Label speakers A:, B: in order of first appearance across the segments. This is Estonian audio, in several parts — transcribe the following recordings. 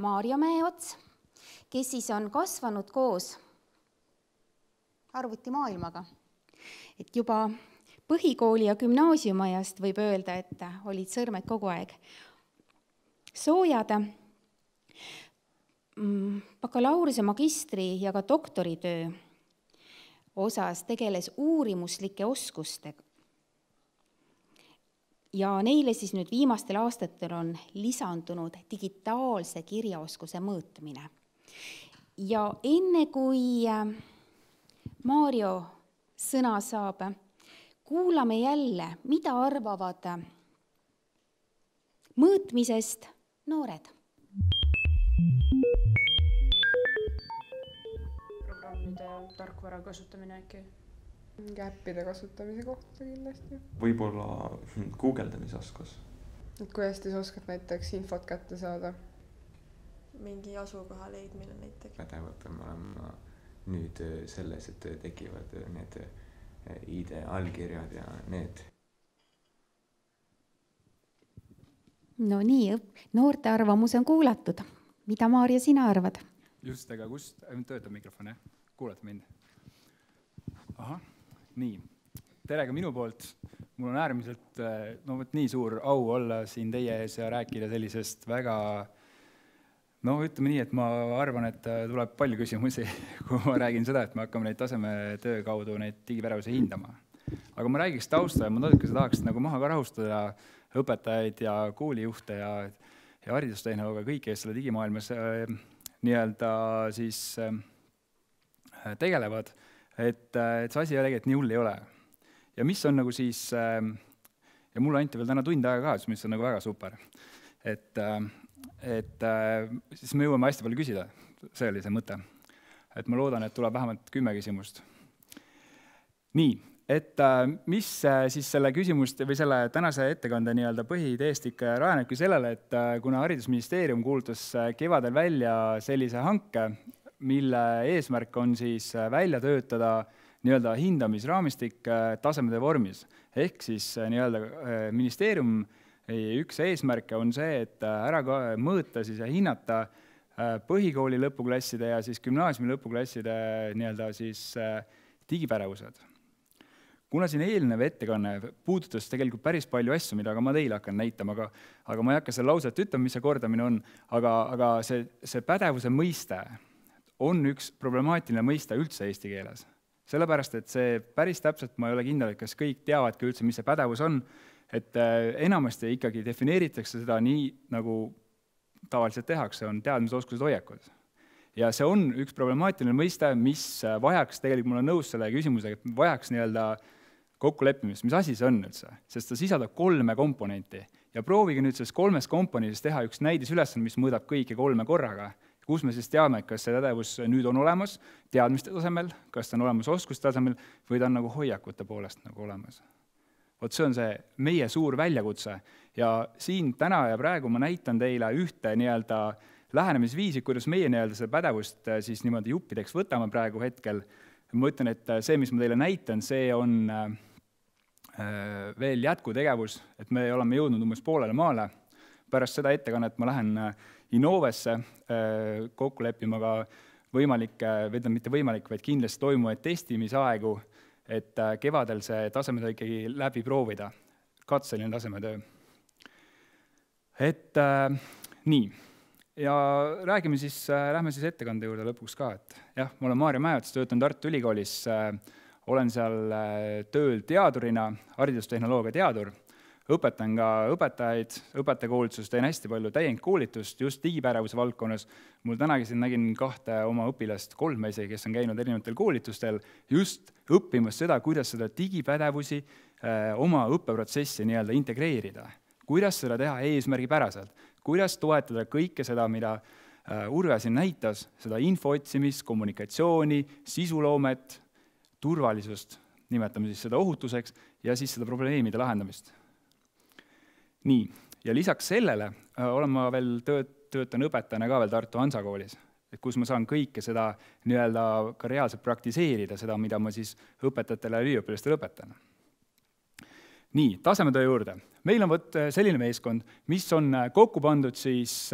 A: Maarja Mäeots, kes siis on kasvanud koos arvutimaailmaga. Et juba põhikooli ja gümnaasiumajast võib öelda, et olid sõrmed kogu aeg soojad. Bakalaureuse, magistri ja ka doktoritöö osas tegeles uurimuslike oskustega. Ja neile siis nüüd viimastel aastatel on lisandunud digitaalse kirjaoskuse mõõtmine. Ja enne kui Maarjo sõna saab, kuulame jälle, mida arvavad mõõtmisest noored.
B: Programmide ja tarkvara kasutamine äkki?
C: Äppide kasutamise kohta kindlasti.
D: Võib-olla guugeldamisoskus.
C: Kuidas te oskad näiteks infot kätte saada?
E: Mingi asukoha leidmine näiteks.
D: Pädevad olema nüüd selles, et tekivad need ID-allkirjad ja need.
A: No nii, noorte arvamus on kuulatud. Mida, Maarja, sina arvad?
F: Just, aga kust töötab mikrofon, jah? Kuulate mind? Aha. Nii, tere ka minu poolt. Mul on äärmiselt nii suur au olla siin teie ees ja rääkida sellisest väga, ütleme nii, et ma arvan, et tuleb palju küsimusi, kui ma räägin seda, et me hakkame neid tasemetöö kaudu neid digipädevuse hindama. Aga ma räägiks tausta ja ma natukese tahaks maha ka rahustada õpetajaid ja koolijuhte ja haridustehnoloogia kõiki, kes selle digimaailmas siis tegelevad. Et see asi tegelikult nii hull ei ole. Ja mis on siis, ja mulle anti veel täna tund aega ka, mis on väga super. Et siis me jõuame hästi palju küsida. See oli see mõte. Et ma loodan, et tuleb vähemalt 10 küsimust. Nii, et mis siis selle küsimust või selle tänase ettekande põhiideest ikka rajanebki sellele, et kuna Haridusministeerium kuulutas kevadel välja sellise hanke, mille eesmärk on siis välja töötada hindamisraamistik tasemetöö vormis. Ehk siis ministeerium üks eesmärke on see, et ära mõõta ja hinnata põhikooli lõpuklasside ja siis gümnaasiumi lõpuklasside digipädevused. Kuna siin eelnev ettekanne puudutas tegelikult päris palju asju, mida ma teile hakkan näitama, aga ma ei hakka selle lauset ütlema, mis see kordamine on, aga see pädevuse mõiste on üks problemaatiline mõiste üldse eesti keeles. Sellepärast, et see päris täpselt ma ei ole kindel, et kas kõik teavadki üldse, mis see pädevus on, et enamasti ikkagi defineeritakse seda nii, nagu tavaliselt tehakse, on teadmisoskused hoiakud. Ja see on üks problemaatiline mõiste, mis vajaks, tegelikult mul on nõus selle küsimusega, et vajaks kokkuleppimist, mis asi see on üldse, sest ta sisaldab 3 komponenti. Ja proovige nüüd selles 3 komponendis teha üks näidisülesanne, mis mõõdab kõiki 3 korraga. Kus me siis teame, kas see pädevus nüüd on olemas teadmiste tasemel, kas ta on olemas oskuste tasemel või ta on hoiakute poolest olemas. Vot see on see meie suur väljakutse ja siin täna ja praegu ma näitan teile ühte lähenemisviisi, kuidas meie seda pädevust siis niimoodi juppideks võtame praegu hetkel. Ma ütlen, et see, mis ma teile näitan, see on veel jätkutegevus, et me oleme jõudnud umbes poolele maale. Pärast seda ettekannet ma lähen Innovesse kokku leppima ka mitte võimalik, vaid kindlasti toimuvaid testimisaegu, et kevadel see tasemetöö ikkagi läbi proovida, katseline tasemetöö. Et nii, ja lähme siis ettekande juurde lõpuks ka, et jah, ma olen Maarja Mäeots, töötan Tartu Ülikoolis, olen seal tööl teadurina, haridustehnoloogia teadur, õpetan ka õpetajaid, õpetajakoolitust, teen hästi palju täiendkoolitust just digipädevuse valdkonnas. Mul tänagi siin nägin 2 oma õpilast, 3 isegi, kes on käinud erinevatel koolitustel, just õppimas seda, kuidas seda digipädevusi oma õppeprotsessi integreerida. Kuidas seda teha eesmärgipäraselt, kuidas toetada kõike seda, mida Urve siin näitas, seda info otsimist, kommunikatsiooni, sisuloomet, turvalisust, nimetame siis seda ohutuseks ja siis seda probleemide lahendamist. Nii, ja lisaks sellele olen ma veel töötan õpetajana ka veel Tartu Hansa koolis, kus ma saan kõike seda ka reaalselt praktiseerida, seda, mida ma siis õpetajatele ja üliõpilastele õpetan. Nii, tasemetöö juurde. Meil on selline meeskond, mis on kokku pandud siis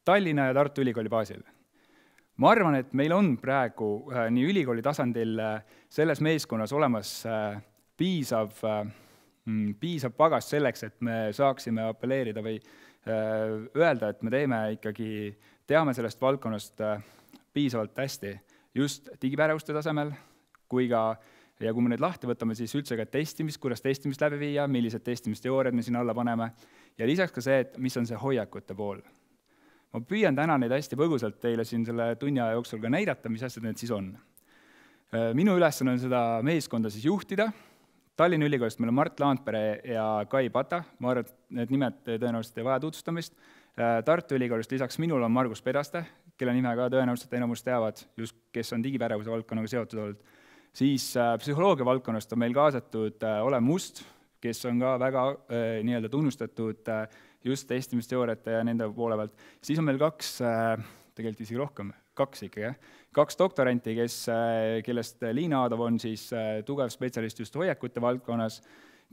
F: Tallinna ja Tartu Ülikooli baasil. Ma arvan, et meil on praegu nii ülikooli tasandil selles meeskonnas olemas piisav pagas selleks, et me saaksime apelleerida või öelda, et me teame sellest valdkonnast piisavalt hästi just digipädevuste tasemel, ja kui me nüüd lahti võtame, siis üldse ka testimist, kuidas testimist läbi viia, millised testimisteooriad me sinna alla paneme, ja lisaks ka see, et mis on see hoiakute pool. Ma püüan täna neid hästi põgusalt teile siin selle tunni aja jooksul ka näidata, mis asjad need siis on. Minu ülesanne on seda meeskonda siis juhtida. Tallinna Ülikoolist meil on Mart Laandpere ja Kai Pata, ma arvan, et need nimed tõenäoliselt ei vaja tutvustamist. Tartu Ülikoolist lisaks minul on Margus Pedaste, kelle nime ka tõenäoliselt enamus teavad, just kes on digipädevuse valdkonnaga seotud olnud. Siis psühholoogia valdkonnast on meil kaasatud Olev Must, kes on ka väga nii-öelda tunnustatud just testimisteooriate ja nende poole pealt. Siis on meil tegelikult isegi rohkem, kaks doktoranti, kellest Liina Aadov on siis tugev spetsialist just hoiakute valdkonnas,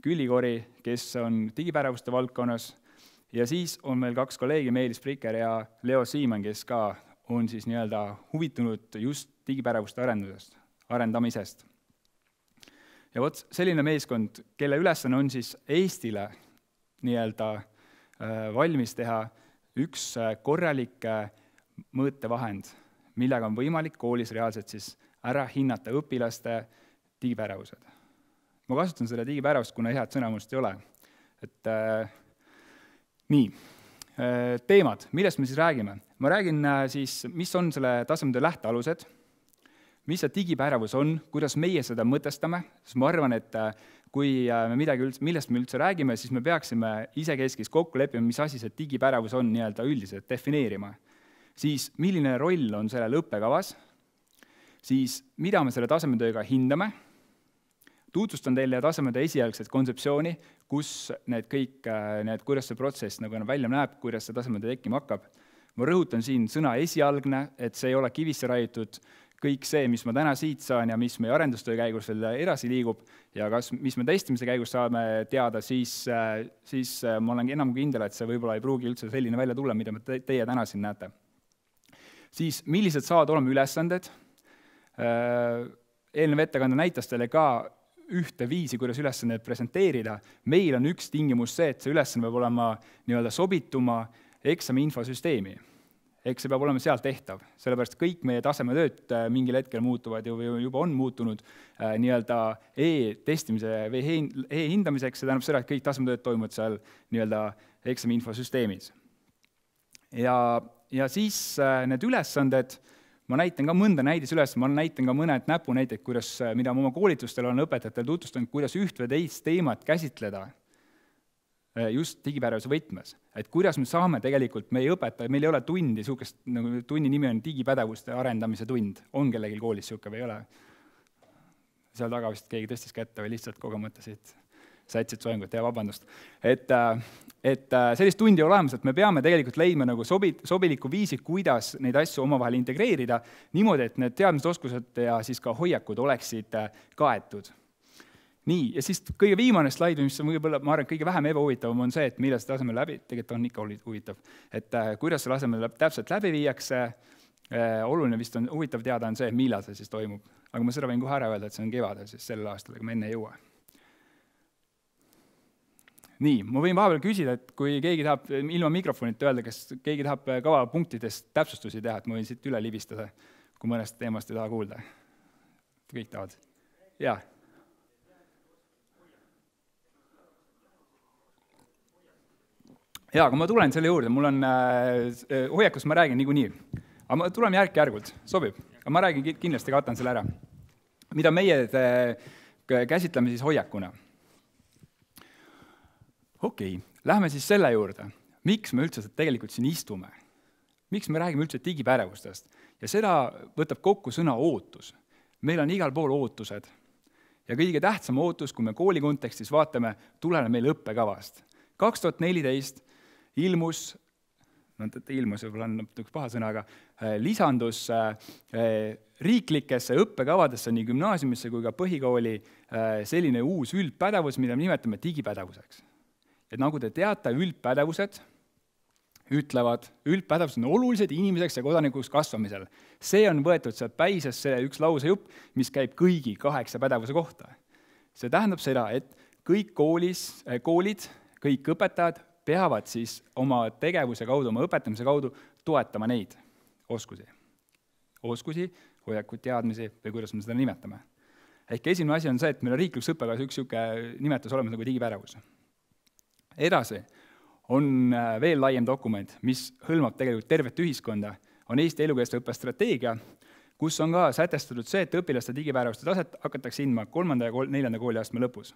F: Külli Kori, kes on digipädevuste valdkonnas, ja siis on meil 2 kolleegi, Meelis Priker ja Leo Siimann, kes ka on siis nii-öelda huvitunud just digipädevuste arendamisest. Ja vot selline meeskond, kelle ülesanne on siis Eestile nii-öelda valmis teha üks korralik mõõtevahend, millega on võimalik koolis reaalselt siis ära hinnata õpilaste digipädevused. Ma kasutan seda digipädevust, kuna head sõnamust ei ole. Nii, teemad, millest me siis räägime? Ma räägin siis, mis on selle tasemetöö lähtealused, mis see digipädevus on, kuidas meie seda mõtestame, sest ma arvan, et kui me millest me üldse räägime, siis me peaksime isekeskis kokku leppima, mis asi see digipädevus on nii-öelda üldiselt defineerima. Siis milline roll on sellel õppekavas, siis mida me selle tasemetööga hindame, tutvustan teile tasemetöö esialgset kontseptsiooni, kus kuidas see protsess nagu välja näeb, kuidas see tasemetöö tekkima hakkab. Ma rõhutan siin sõna esialgne, et see ei ole kivisse raiutud kõik see, mis ma täna siit saan ja mis meie arendustöö käigus veel edasi liigub ja mis me testimise käigus saame teada, siis ma olen enam kindel, et see võib-olla ei pruugi üldse selline välja tulla, mida teie täna siin näete. Siis millised saavad olema ülesanded? Eelnev ettekande näitas teile ka ühte viisi, kuidas ülesandeid presenteerida. Meil on üks tingimus see, et see ülesanne peab olema nii-öelda sobituma eksami infosüsteemi. Ehk see peab olema seal tehtav, sellepärast kõik meie tasemetööd mingil hetkel muutuvad ja juba on muutunud nii-öelda e-testimise või e-hindamiseks, see tähendab seda, et kõik tasemetööd toimuvad seal nii-öelda eksami infosüsteemis. Ja siis need ülesanded, ma näitan ka mõnda näidisülesanded, ma näitan ka mõned näpunäited, mida ma oma koolitustel olen õpetajatel tutvustanud, kuidas üht või teist teemat käsitleda just digipädevuse võtmes. Et kuidas me saame tegelikult meie õpetaja, meil ei ole tundi, nagu tunni nimi on digipädevuste arendamise tund. On kellelgi koolis siuke või ei ole? Seal taga vist keegi tõstis kätte või lihtsalt kogemata siit sätsid soengut, ja vabandust. Et sellist tundi olemas, et me peame tegelikult leidma nagu sobiliku viisi, kuidas neid asju omavahel integreerida, niimoodi, et need teadmised, oskused ja siis ka hoiakud oleksid kaetud. Nii, ja siis kõige viimane slaid, mis on võib-olla, ma arvan, kõige vähem ebahuvitavam on see, et millal see tasemel läbi, tegelikult on ikka huvitav, et kuidas see tasemel täpselt läbi viiakse, oluline vist on huvitav teada on see, millal see siis toimub. Aga ma seda võin kohe ära öelda, et see on kevadel, siis sellel aastal, aga me enne ei jõua. Nii, ma võin vahepeal küsida, et kui keegi tahab ilma mikrofonit öelda, kas keegi tahab kavapunktidest täpsustusi teha, et ma võin siit üle libistada, kui mõnest teemast ei taha kuulda. Kõik tahavad. Jaa. Jaa, aga ma tulen selle juurde, mul on hoiakust ma räägin niikuinii. Aga ma tulen järk-järgult, sobib. Aga ma räägin kindlasti katan selle ära. Mida meie käsitleme siis hoiakuna? Okei, lähme siis selle juurde. Miks me üldse tegelikult siin istume? Miks me räägime üldse digipädevustest? Ja seda võtab kokku sõna ootus. Meil on igal pool ootused. Ja kõige tähtsam ootus, kui me kooli kontekstis vaatame, tulene meil õppekavast. 2014 ilmus võib-olla on üks paha sõna, aga lisandus riiklikesse õppekavadesse nii gümnaasiumisse kui ka põhikooli selline uus üldpädevus, mida me nimetame digipädevuseks. Et nagu te teate, ütlevad, üldpädevused on olulised inimeseks ja kodanikuks kasvamisel. See on võetud sealt päisest see üks lausejupp, mis käib kõigi 8 pädevuse kohta. See tähendab seda, et kõik koolid, kõik õpetajad peavad siis oma tegevuse kaudu, oma õpetamise kaudu toetama neid oskusi. Oskusi, hoiakuid, teadmisi või kuidas me seda nimetame. Ehk esimene asi on see, et meil on riiklikus õppekavas üks niisugune nimetus olemas nagu digipädevus. Edasi on veel laiem dokument, mis hõlmab tegelikult tervet ühiskonda, on Eesti elukestva õppe strateegia, kus on ka sätestatud see, et õpilaste digipädevuste taset hakatakse hindama 3. ja 4. kooliastme lõpus.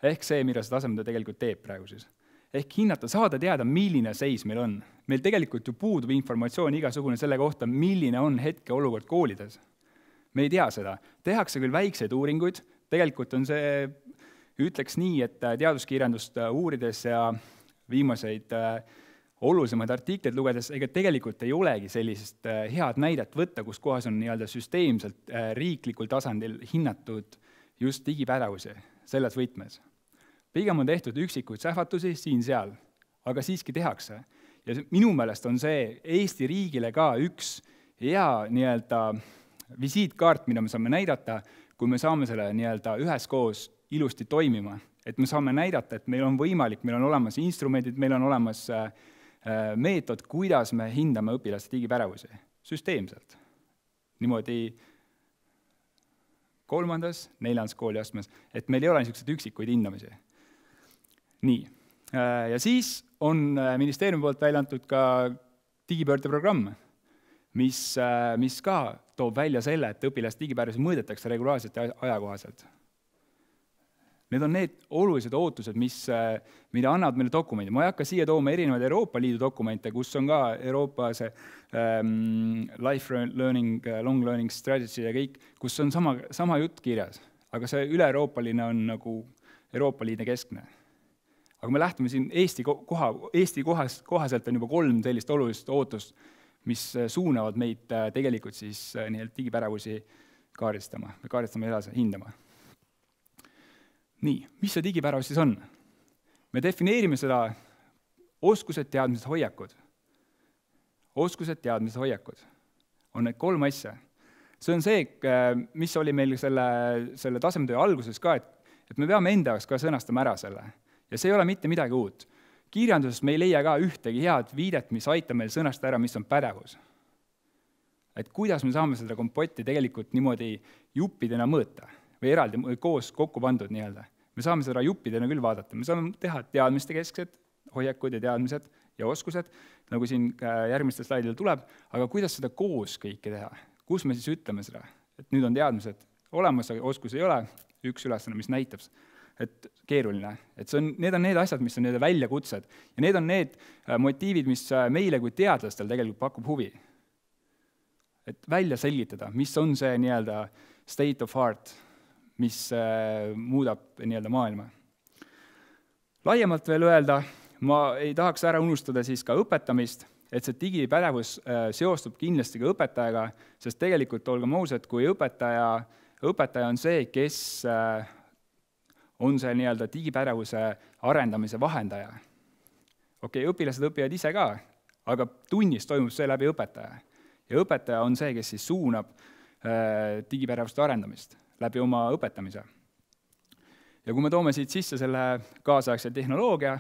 F: Ehk see, mida see taseme tegelikult teeb praegu siis. Ehk hinnata, saada teada, milline seis meil on. Meil tegelikult ju puudub informatsioon igasugune selle kohta, milline on hetke olukord koolides. Me ei tea seda. Tehakse küll väikseid uuringuid, tegelikult on see, ütleks nii, et teaduskirjandust uurides ja viimaseid olulisemaid artikleid lugedes, ega tegelikult ei olegi sellisest head näidet võtta, kus kohas on nii-öelda süsteemselt riiklikul tasandil hinnatud just digipädevusi selles võtmes. Pigem on tehtud üksikuid sähvatusi siin-seal, aga siiski tehakse. Ja minu meelest on see Eesti riigile ka üks hea nii-öelda visiitkaart, mida me saame näidata, kui me saame selle nii-öelda üheskoos ilusti toimima. Et me saame näidata, et meil on võimalik, meil on olemas instrumendid, meil on olemas meetod, kuidas me hindame õpilaste digipädevusi. Süsteemselt. Niimoodi 3., 4. kooliastmes, et meil ei ole niisugused üksikuid hindamisi. Nii. Ja siis on ministeeriumi poolt välja antud ka digipöördeprogramm, mis ka toob välja selle, et õpilaste digipädevusi mõõdetakse regulaarselt ja ajakohaselt. Need on need olulised ootused, mida annavad meile dokumendid. Ma ei hakka siia tooma erinevaid Euroopa Liidu dokumente, kus on ka Euroopa see life learning, long learning strategy ja kõik, kus on sama jutt kirjas. Aga see üle-euroopaline on nagu Euroopa Liidu keskne. Aga me lähtume siin Eesti kohaselt on juba 3 sellist olulist ootust, mis suunavad meid tegelikult siis digipädevusi kaardistama edasi, hindama. Nii, mis see digipädevus siis on? Me defineerime seda oskused, teadmised, hoiakud. Oskused, teadmised, hoiakud. On need 3 asja. See on see, mis oli meil selle tasemetöö alguses ka, et me peame enda jaoks ka sõnastama ära selle. Ja see ei ole mitte midagi uut. Kirjanduses me ei leia ka ühtegi head viidet, mis aitab meil sõnastada ära, mis on pädevus. Et kuidas me saame seda kompotti tegelikult niimoodi juppidena mõõta või eraldi koos kokku pandud nii-öelda. Me saame seda juppidena küll vaadata. Me saame teha teadmiste kesksed, hoiakud ja teadmised ja oskused, nagu siin järgmistel slaidil tuleb, aga kuidas seda koos kõike teha? Kus me siis ütleme seda? Et nüüd on teadmised olemas, aga oskus ei ole, üks ülesanne, mis näitab, et keeruline. Et need on need asjad, mis on need väljakutsed ja need on need motiivid, mis meile kui teadlastel tegelikult pakub huvi. Et välja selgitada, mis on see nii-öelda state of art, mis muudab nii-öelda maailma. Laiemalt veel öelda, ma ei tahaks ära unustada siis ka õpetamist, et see digipädevus seostub kindlasti ka õpetajaga, sest tegelikult olgem ausad, kui õpetaja on see, kes on see nii-öelda digipädevuse arendamise vahendaja. Okei, õpilased õpivad ise ka, aga tunnis toimub see läbi õpetaja. Ja õpetaja on see, kes siis suunab digipädevuste arendamist läbi oma õpetamise. Ja kui me toome siit sisse selle kaasaegse tehnoloogia,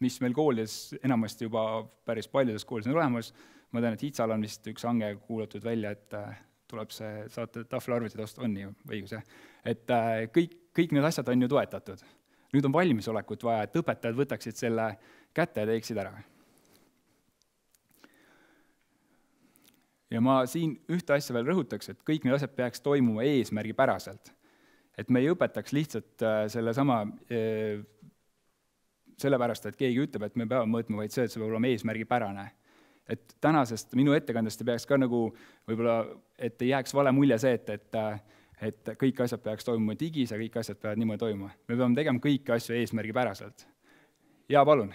F: mis meil koolides enamasti juba päris paljudes koolides on olemas, ma tean, et Hitsal on vist üks hange kuulatud välja, et tuleb see saate tahvelarvutid osta, on nii õigus, et kõik need asjad on ju toetatud. Nüüd on valmisolekut vaja, et õpetajad võtaksid selle kätte ja teeksid ära. Ja ma siin ühte asja veel rõhutaks, et kõik need asjad peaks toimuma eesmärgipäraselt. Et me ei õpetaks lihtsalt sellesama sellepärast, et keegi ütleb, et me peame mõõtma, vaid see, et see peab olema eesmärgipärane. Et tänasest minu ettekandest peaks ka nagu võib-olla, et ei jääks vale mulje see, et kõik asjad peaks toimuma digis ja kõik asjad peavad niimoodi toimuma. Me peame tegema kõiki asju eesmärgipäraselt. Ja palun.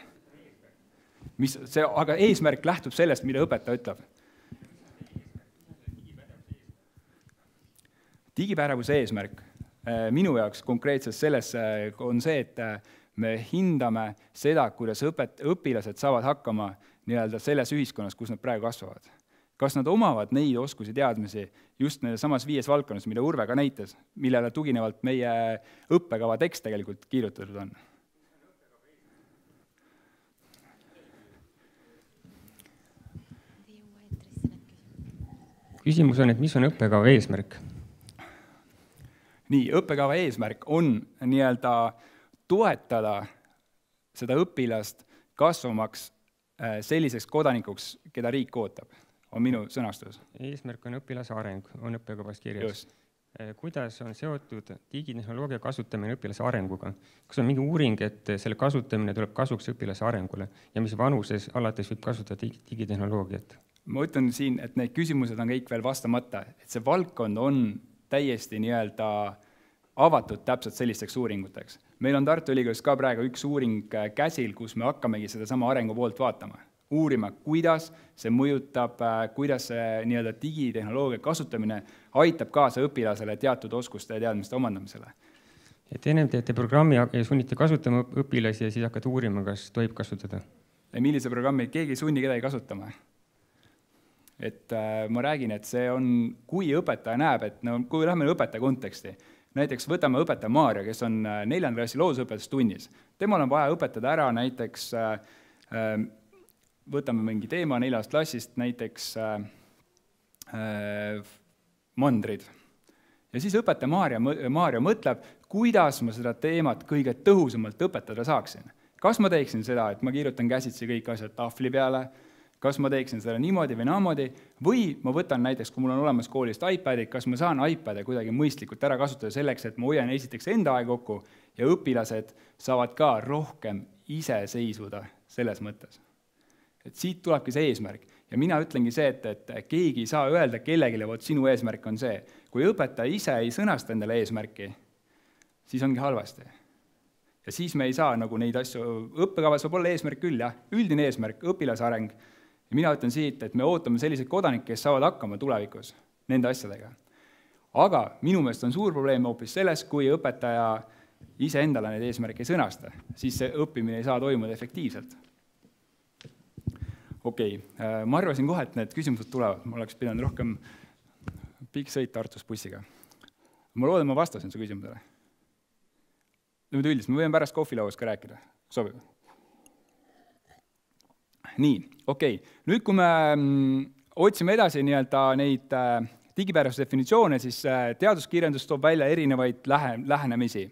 F: Aga eesmärk lähtub sellest, mida õpetaja ütleb. Digipädevuse eesmärk minu jaoks konkreetselt selles on see, et me hindame seda, kuidas õpilased saavad hakkama nii-öelda selles ühiskonnas, kus nad praegu kasvavad. Kas nad omavad neid oskusi teadmisi just nende samas 5 valdkonnas, mida Urve ka näitas, millele tuginevalt meie õppekava tekst tegelikult kirjutatud on?
G: Küsimus on, et mis on õppekava eesmärk?
F: Nii, õppekava eesmärk on nii-öelda toetada seda õpilast kasvamaks selliseks kodanikuks, keda riik ootab, on minu sõnastus.
G: Eesmärk on õpilase areng, on õppekavas kirjas. Kuidas on seotud digitehnoloogia kasutamine õpilase arenguga? Kas on mingi uuring, et selle kasutamine tuleb kasuks õpilase arengule ja mis vanuses alates võib kasutada digitehnoloogiat?
F: Ma ütlen siin, et need küsimused on kõik veel vastamata, et see valdkond on täiesti nii-öelda avatud täpselt sellisteks uuringuteks. Meil on Tartu Ülikoolis ka praegu üks uuring käsil, kus me hakkamegi seda sama arengu poolt vaatama. Uurima, kuidas see mõjutab, kuidas see nii-öelda digitehnoloogia kasutamine aitab kaasa õpilasele teatud oskuste ja teadmiste omandamisele.
G: Et ennem teete programmi ja sunnite kasutama õpilasi ja siis hakkate uurima, kas tohib kasutada?
F: Millise programmi? Keegi ei sunni kedagi kasutama. Et ma räägin, et see on, kui õpetaja näeb, et no, kui lähme õpetaja konteksti, näiteks võtame õpetaja Maarja, kes on 4. klassi loodusõpetus tunnis. Temal on vaja õpetada ära näiteks, võtame mingi teema 4. klassist, näiteks mandrid. Ja siis õpetaja Maarja mõtleb, kuidas ma seda teemat kõige tõhusamalt õpetada saaksin. Kas ma teeksin seda, et ma kirjutan käsitsi kõik asjad tahvli peale, kas ma teeksin seda niimoodi või naamoodi, või ma võtan näiteks, kui mul on olemas koolist iPadid, kas ma saan iPad'i kuidagi mõistlikult ära kasutada selleks, et ma hoian esiteks enda aeg kokku ja õpilased saavad ka rohkem ise seisvuda selles mõttes. Et siit tulebki see eesmärk. Ja mina ütlengi see, et keegi ei saa öelda kellegile, vot sinu eesmärk on see. Kui õpetaja ise ei sõnasta endale eesmärki, siis ongi halvasti. Ja siis me ei saa nagu neid asju, õppekavas võib olla eesmärk küll, jah, üldine eesmärk, õpilase areng. Ja mina ütlen siit, et me ootame selliseid kodanikke, kes saavad hakkama tulevikus nende asjadega. Aga minu meelest on suur probleem hoopis selles, kui õpetaja ise endale neid eesmärke ei sõnasta, siis see õppimine ei saa toimuda efektiivselt. Okei, ma arvasin kohe, et need küsimused tulevad. Ma oleks pidanud rohkem pikk sõit Tartus bussiga. Ma loodan, ma vastasin su küsimusele. Nüüd üldiselt, me võime pärast kohvilauas ka rääkida. Sobib? Nii, okei. Nüüd, kui me otsime edasi nii-öelda neid digipärasuse definitsioone, siis teaduskirjandus toob välja erinevaid lähenemisi.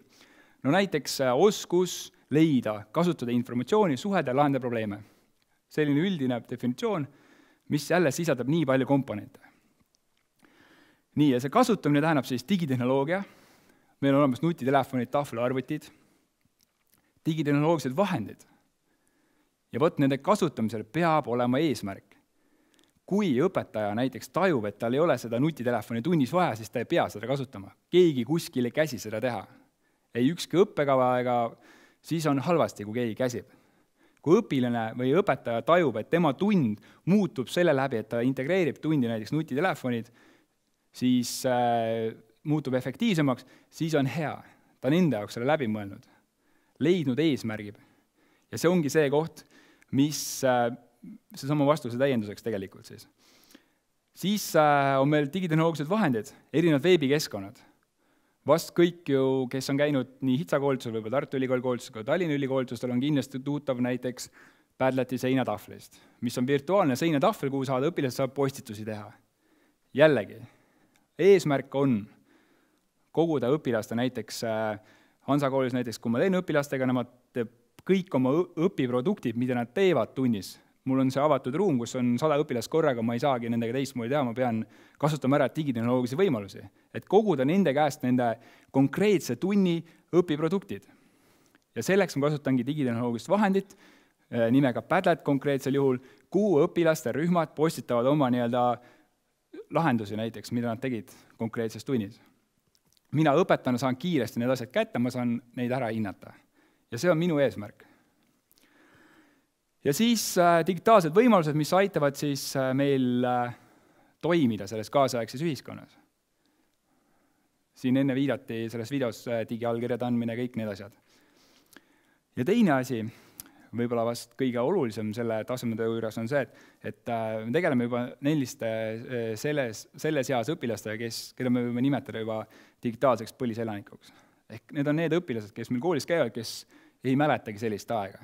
F: No näiteks oskus leida, kasutada informatsiooni, suhelda ja lahendada probleeme. Selline üldine definitsioon, mis jälle sisaldab nii palju komponente. Nii, ja see kasutamine tähendab siis digitehnoloogia, meil on olemas nutitelefonid, tahvelarvutid, digitehnoloogilised vahendid. Ja võt nende kasutamisel peab olema eesmärk. Kui õpetaja näiteks tajub, et tal ei ole seda nutitelefoni tunnis vaja, siis ta ei pea seda kasutama. Keegi kuskil ei käsi seda teha. Ei ükski õppekava ega siis on halvasti, kui keegi käsib. Kui õpilane või õpetaja tajub, et tema tund muutub selle läbi, et ta integreerib tundi näiteks nutitelefonid, siis muutub efektiivsemaks, siis on hea. Ta on enda jaoks selle läbi mõelnud, leidnud eesmärgib. Ja see ongi see koht, mis see sama vastuse täienduseks tegelikult siis. Siis on meil digitehnoloogilised vahendid, erinevad veebikeskkonnad. Vast kõik ju, kes on käinud nii HITSA koolitusel, võib-olla Tartu Ülikooli koolitusel, ka Tallinna Ülikoolitusel on kindlasti tuttav näiteks Padleti seinatahvlist, mis on virtuaalne seinatahvel, kuhu õpilased saab postitusi teha. Jällegi, eesmärk on koguda õpilaste näiteks Hansa koolis näiteks, kui ma teen õpilastega, nemad kõik oma õpiproduktid, mida nad teevad tunnis. Mul on see avatud ruum, kus on 100 õpilast korraga, ma ei saagi nendega teistmoodi teha, ma pean kasutama ära digitehnoloogilisi võimalusi, et koguda nende käest nende konkreetse tunni õpiproduktid. Ja selleks ma kasutangi digitehnoloogilist vahendit, nimega Padlet konkreetsel juhul, kuhu õpilaste rühmad postitavad oma nii-öelda lahendusi näiteks, mida nad tegid konkreetses tunnis. Mina õpetana saan kiiresti need asjad kätte, ma saan neid ära hinnata. Ja see on minu eesmärk. Ja siis digitaalsed võimalused, mis aitavad siis meil toimida selles kaasaegses ühiskonnas. Siin enne viidati selles videos digiallkirjade andmine, kõik need asjad. Ja teine asi, võib-olla vast kõige olulisem selle tasemetöö juures on see, et me tegeleme juba selles eas õpilastega, keda me võime nimetada juba digitaalseks põliselanikuks. Ehk need on need õpilased, kes meil koolis käivad, kes ei mäletagi sellist aega.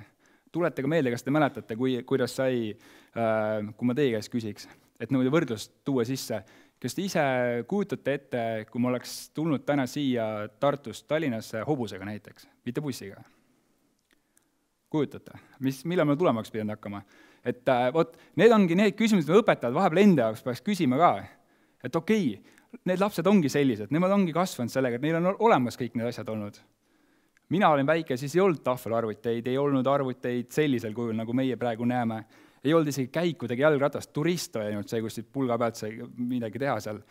F: Tuletage meelde, kas te mäletate, kuidas sai, kui ma teie käest küsiks, et nõude võrdlust tuua sisse, kas te ise kujutate ette, kui ma oleks tulnud täna siia Tartust Tallinnasse hobusega näiteks, mitte bussiga? Kujutate? Millal me tulemaks pidanud hakkama? Et need ongi need küsimused, mida õpetajad vahepeal enda jaoks peaks küsima ka. Et okei, need lapsed ongi sellised, nemad ongi kasvanud sellega, et neil on olemas kõik need asjad olnud. Mina olin väike, siis ei olnud tahvelarvuteid, ei olnud arvuteid sellisel kujul, nagu meie praegu näeme. Ei olnud isegi käikudegi jalgratast, turist oli ainult see, kus pulga pealt sai midagi teha seal.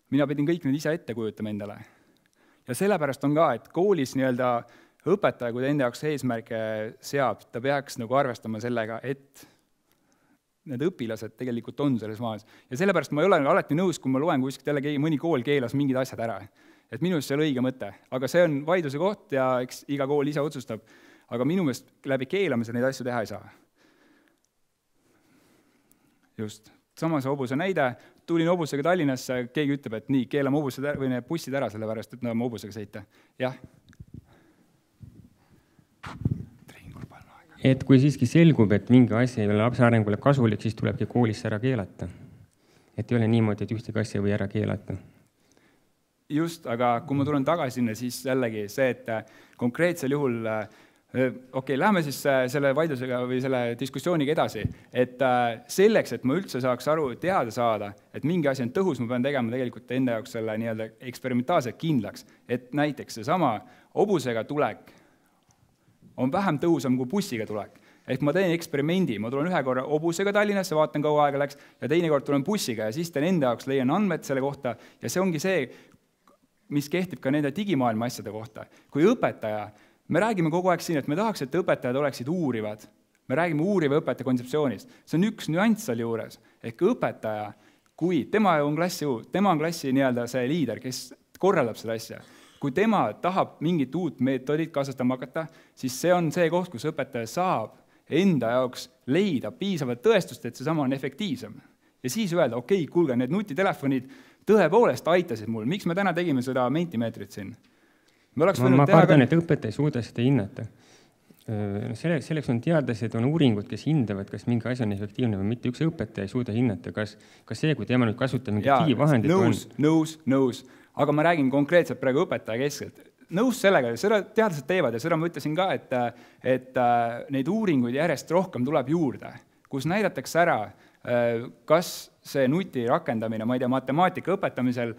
F: Mina pidin kõik need ise ette kujutama endale. Ja sellepärast on ka, et koolis õpetaja, kui ta enda jaoks eesmärke seab, ta peaks arvestama sellega, et need õpilased tegelikult on selles maas. Ja sellepärast ma ei ole alati nõus, kui ma loen kuskilt jälle mõni kool keelas mingid asjad ära. Et minu meelest see on õige mõte, aga see on vaidluse koht ja eks iga kool ise otsustab. Aga minu meelest läbi keelamise neid asju teha ei saa. Just. Samas hobuse näide, tulin hobusega Tallinnasse, keegi ütleb, et nii, keelame hobused või need bussid ära sellepärast, et nad on hobusega sõita. Jah.
G: Et kui siiski selgub, et mingi asi ei ole lapse arengule kasulik, siis tulebki koolis ära keelata. Et ei ole niimoodi, et ühtegi asja või ära keelata.
F: Just, aga kui ma tulen tagasi sinna, siis jällegi see, et konkreetsel juhul, läheme siis selle vaidlusega või selle diskussiooniga edasi, et selleks, et ma üldse saaks aru, teada saada, et mingi asi on tõhus, ma pean tegema tegelikult enda jaoks selle nii-öelda eksperimentaalselt kindlaks, et näiteks seesama hobusega tulek on vähem tõhusam kui bussiga tulek. Ehk ma teen eksperimendi, ma tulen ühe korra hobusega Tallinnasse, vaatan, kaua aega läks, ja teine kord tulen bussiga ja siis teen enda jaoks, leian andmed selle kohta ja see ongi see, mis kehtib ka nende digimaailma asjade kohta. Kui õpetaja, me räägime kogu aeg siin, et me tahaks, et õpetajad oleksid uurivad. Me räägime uuriva õpetaja kontseptsioonist. See on üks nüanss seal juures. Ehk õpetaja, kui tema on klassi nii-öelda see liider, kes korraldab seda asja, kui tema tahab mingit uut meetodit kasutama hakata, siis see on see koht, kus õpetaja saab enda jaoks leida piisavalt tõestust, et see sama on efektiivsem. Ja siis öelda, okei, kuulge, need nutitelefonid tõepoolest aitasid mul. Miks me täna tegime seda mentimeetrit siin?
G: Ma kardan, et õpetaja ei suuda seda hinnata. Selleks on teadlased, on uuringud, kes hindavad, kas mingi asi on efektiivne või mitte. Üks õpetaja ei suuda hinnata, kas see, kui tema nüüd kasutab mingi digivahendit
F: Nõus. Aga ma räägin konkreetselt praegu õpetaja keskelt. Nõus sellega, seda teadlased teevad ja seda ma ütlesin ka, et neid uuringuid järjest rohkem tuleb juurde, kus näidatakse ära, kas see nuti rakendamine, ma ei tea, matemaatika õpetamisel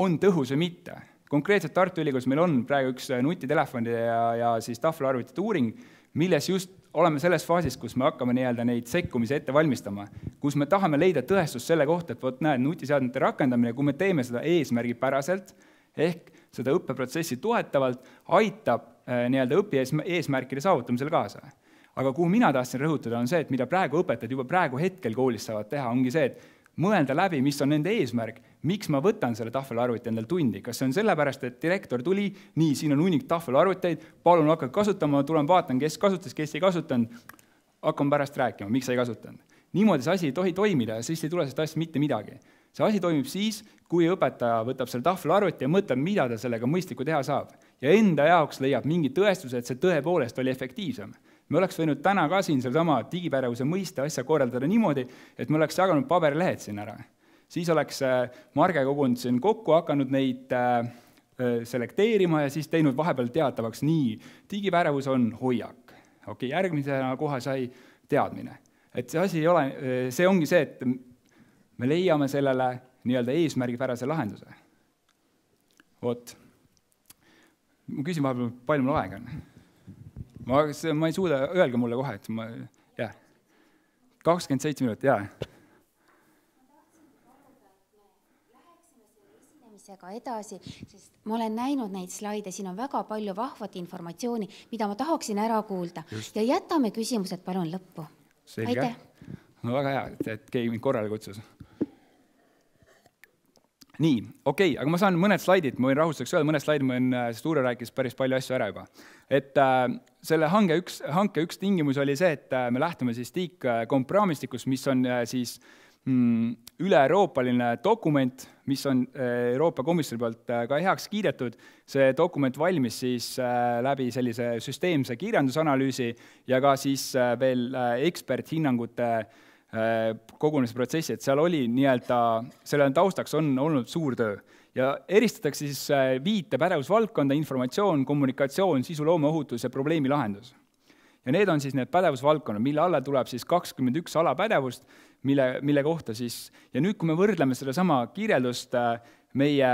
F: on tõhus või mitte. Konkreetselt Tartu Ülikoolis meil on praegu üks nutitelefonide ja siis tahvelarvutite uuring, milles just oleme selles faasis, kus me hakkame nii-öelda neid sekkumisi ette valmistama, kus me tahame leida tõestust selle kohta, et nutiseadmete rakendamine, kui me teeme seda eesmärgipäraselt, ehk seda õppeprotsessi toetavalt, aitab nii-öelda õpi eesmärkide saavutamisele kaasa. Aga kuhu mina tahtsin rõhutada on see, et mida praegu õpetajad juba praegu hetkel koolis saavad teha, ongi see, et mõelda läbi, mis on nende eesmärk, miks ma võtan selle tahvelarvuti endal tundi. Kas see on sellepärast, et direktor tuli, nii, siin on hunnik tahvelarvuteid, palun hakkad kasutama, tulen vaatan, kes kasutas, kes ei kasutanud, hakkam pärast rääkima, miks ei kasutanud. Niimoodi see asi ei tohi toimida ja siis ei tule sellest asja mitte midagi. See asi toimib siis, kui õpetaja võtab selle tahvelarvuti ja mõtleb, mida ta sellega mõistlikku teha saab. Ja enda jaoks leiab mingi tõestuse, et see tõepoolest oli efektiivsem. Me oleks võinud täna ka siin sellesama digipädevuse mõiste asja korraldada niimoodi, et me oleks jaganud paberilehed siin ära. Siis oleks Marge kogunud siin kokku, hakanud neid selekteerima ja siis teinud vahepeal teatavaks nii, digipädevus on hoiak. Okei, järgmisena kohe sai teadmine. Et see asi ei ole, see ongi see, et me leiame sellele nii-öelda eesmärgipärase lahenduse. Vot. Ma küsin vahepeal, palju mul aega on. Ma ei suuda, öelge mulle kohe, et 27 minutit,
A: Ma tahtsin esinemisega edasi, sest ma olen näinud neid slaide, siin on väga palju vahvat informatsiooni, mida ma tahaksin ära kuulda. Just. Ja jätame küsimused palun lõppu.
F: Selge. No väga hea, et keegi mind korrale kutsus. Nii, okei, aga ma saan mõned slaidid, ma võin rahustuseks öelda, mõned slaidid, sest Uure rääkis päris palju asju ära juba. Et selle hanke üks tingimus oli see, et me lähtume siis tiikkompraamistikust, mis on siis üle-euroopaline dokument, mis on Euroopa Komisjoni poolt ka heaks kiidetud. See dokument valmis siis läbi sellise süsteemse kirjandusanalüüsi ja ka siis veel eksperthinnangute kogunemise protsessi, et seal oli selle taustaks on olnud suur töö. Ja eristatakse siis 5 pädevusvaldkonda: informatsioon, kommunikatsioon, sisuloome, ohutus ja probleemi lahendus. Ja need on siis need pädevusvaldkonnad, mille alla tuleb siis 21 alapädevust, mille kohta siis, ja nüüd, kui me võrdleme seda sama kirjeldust meie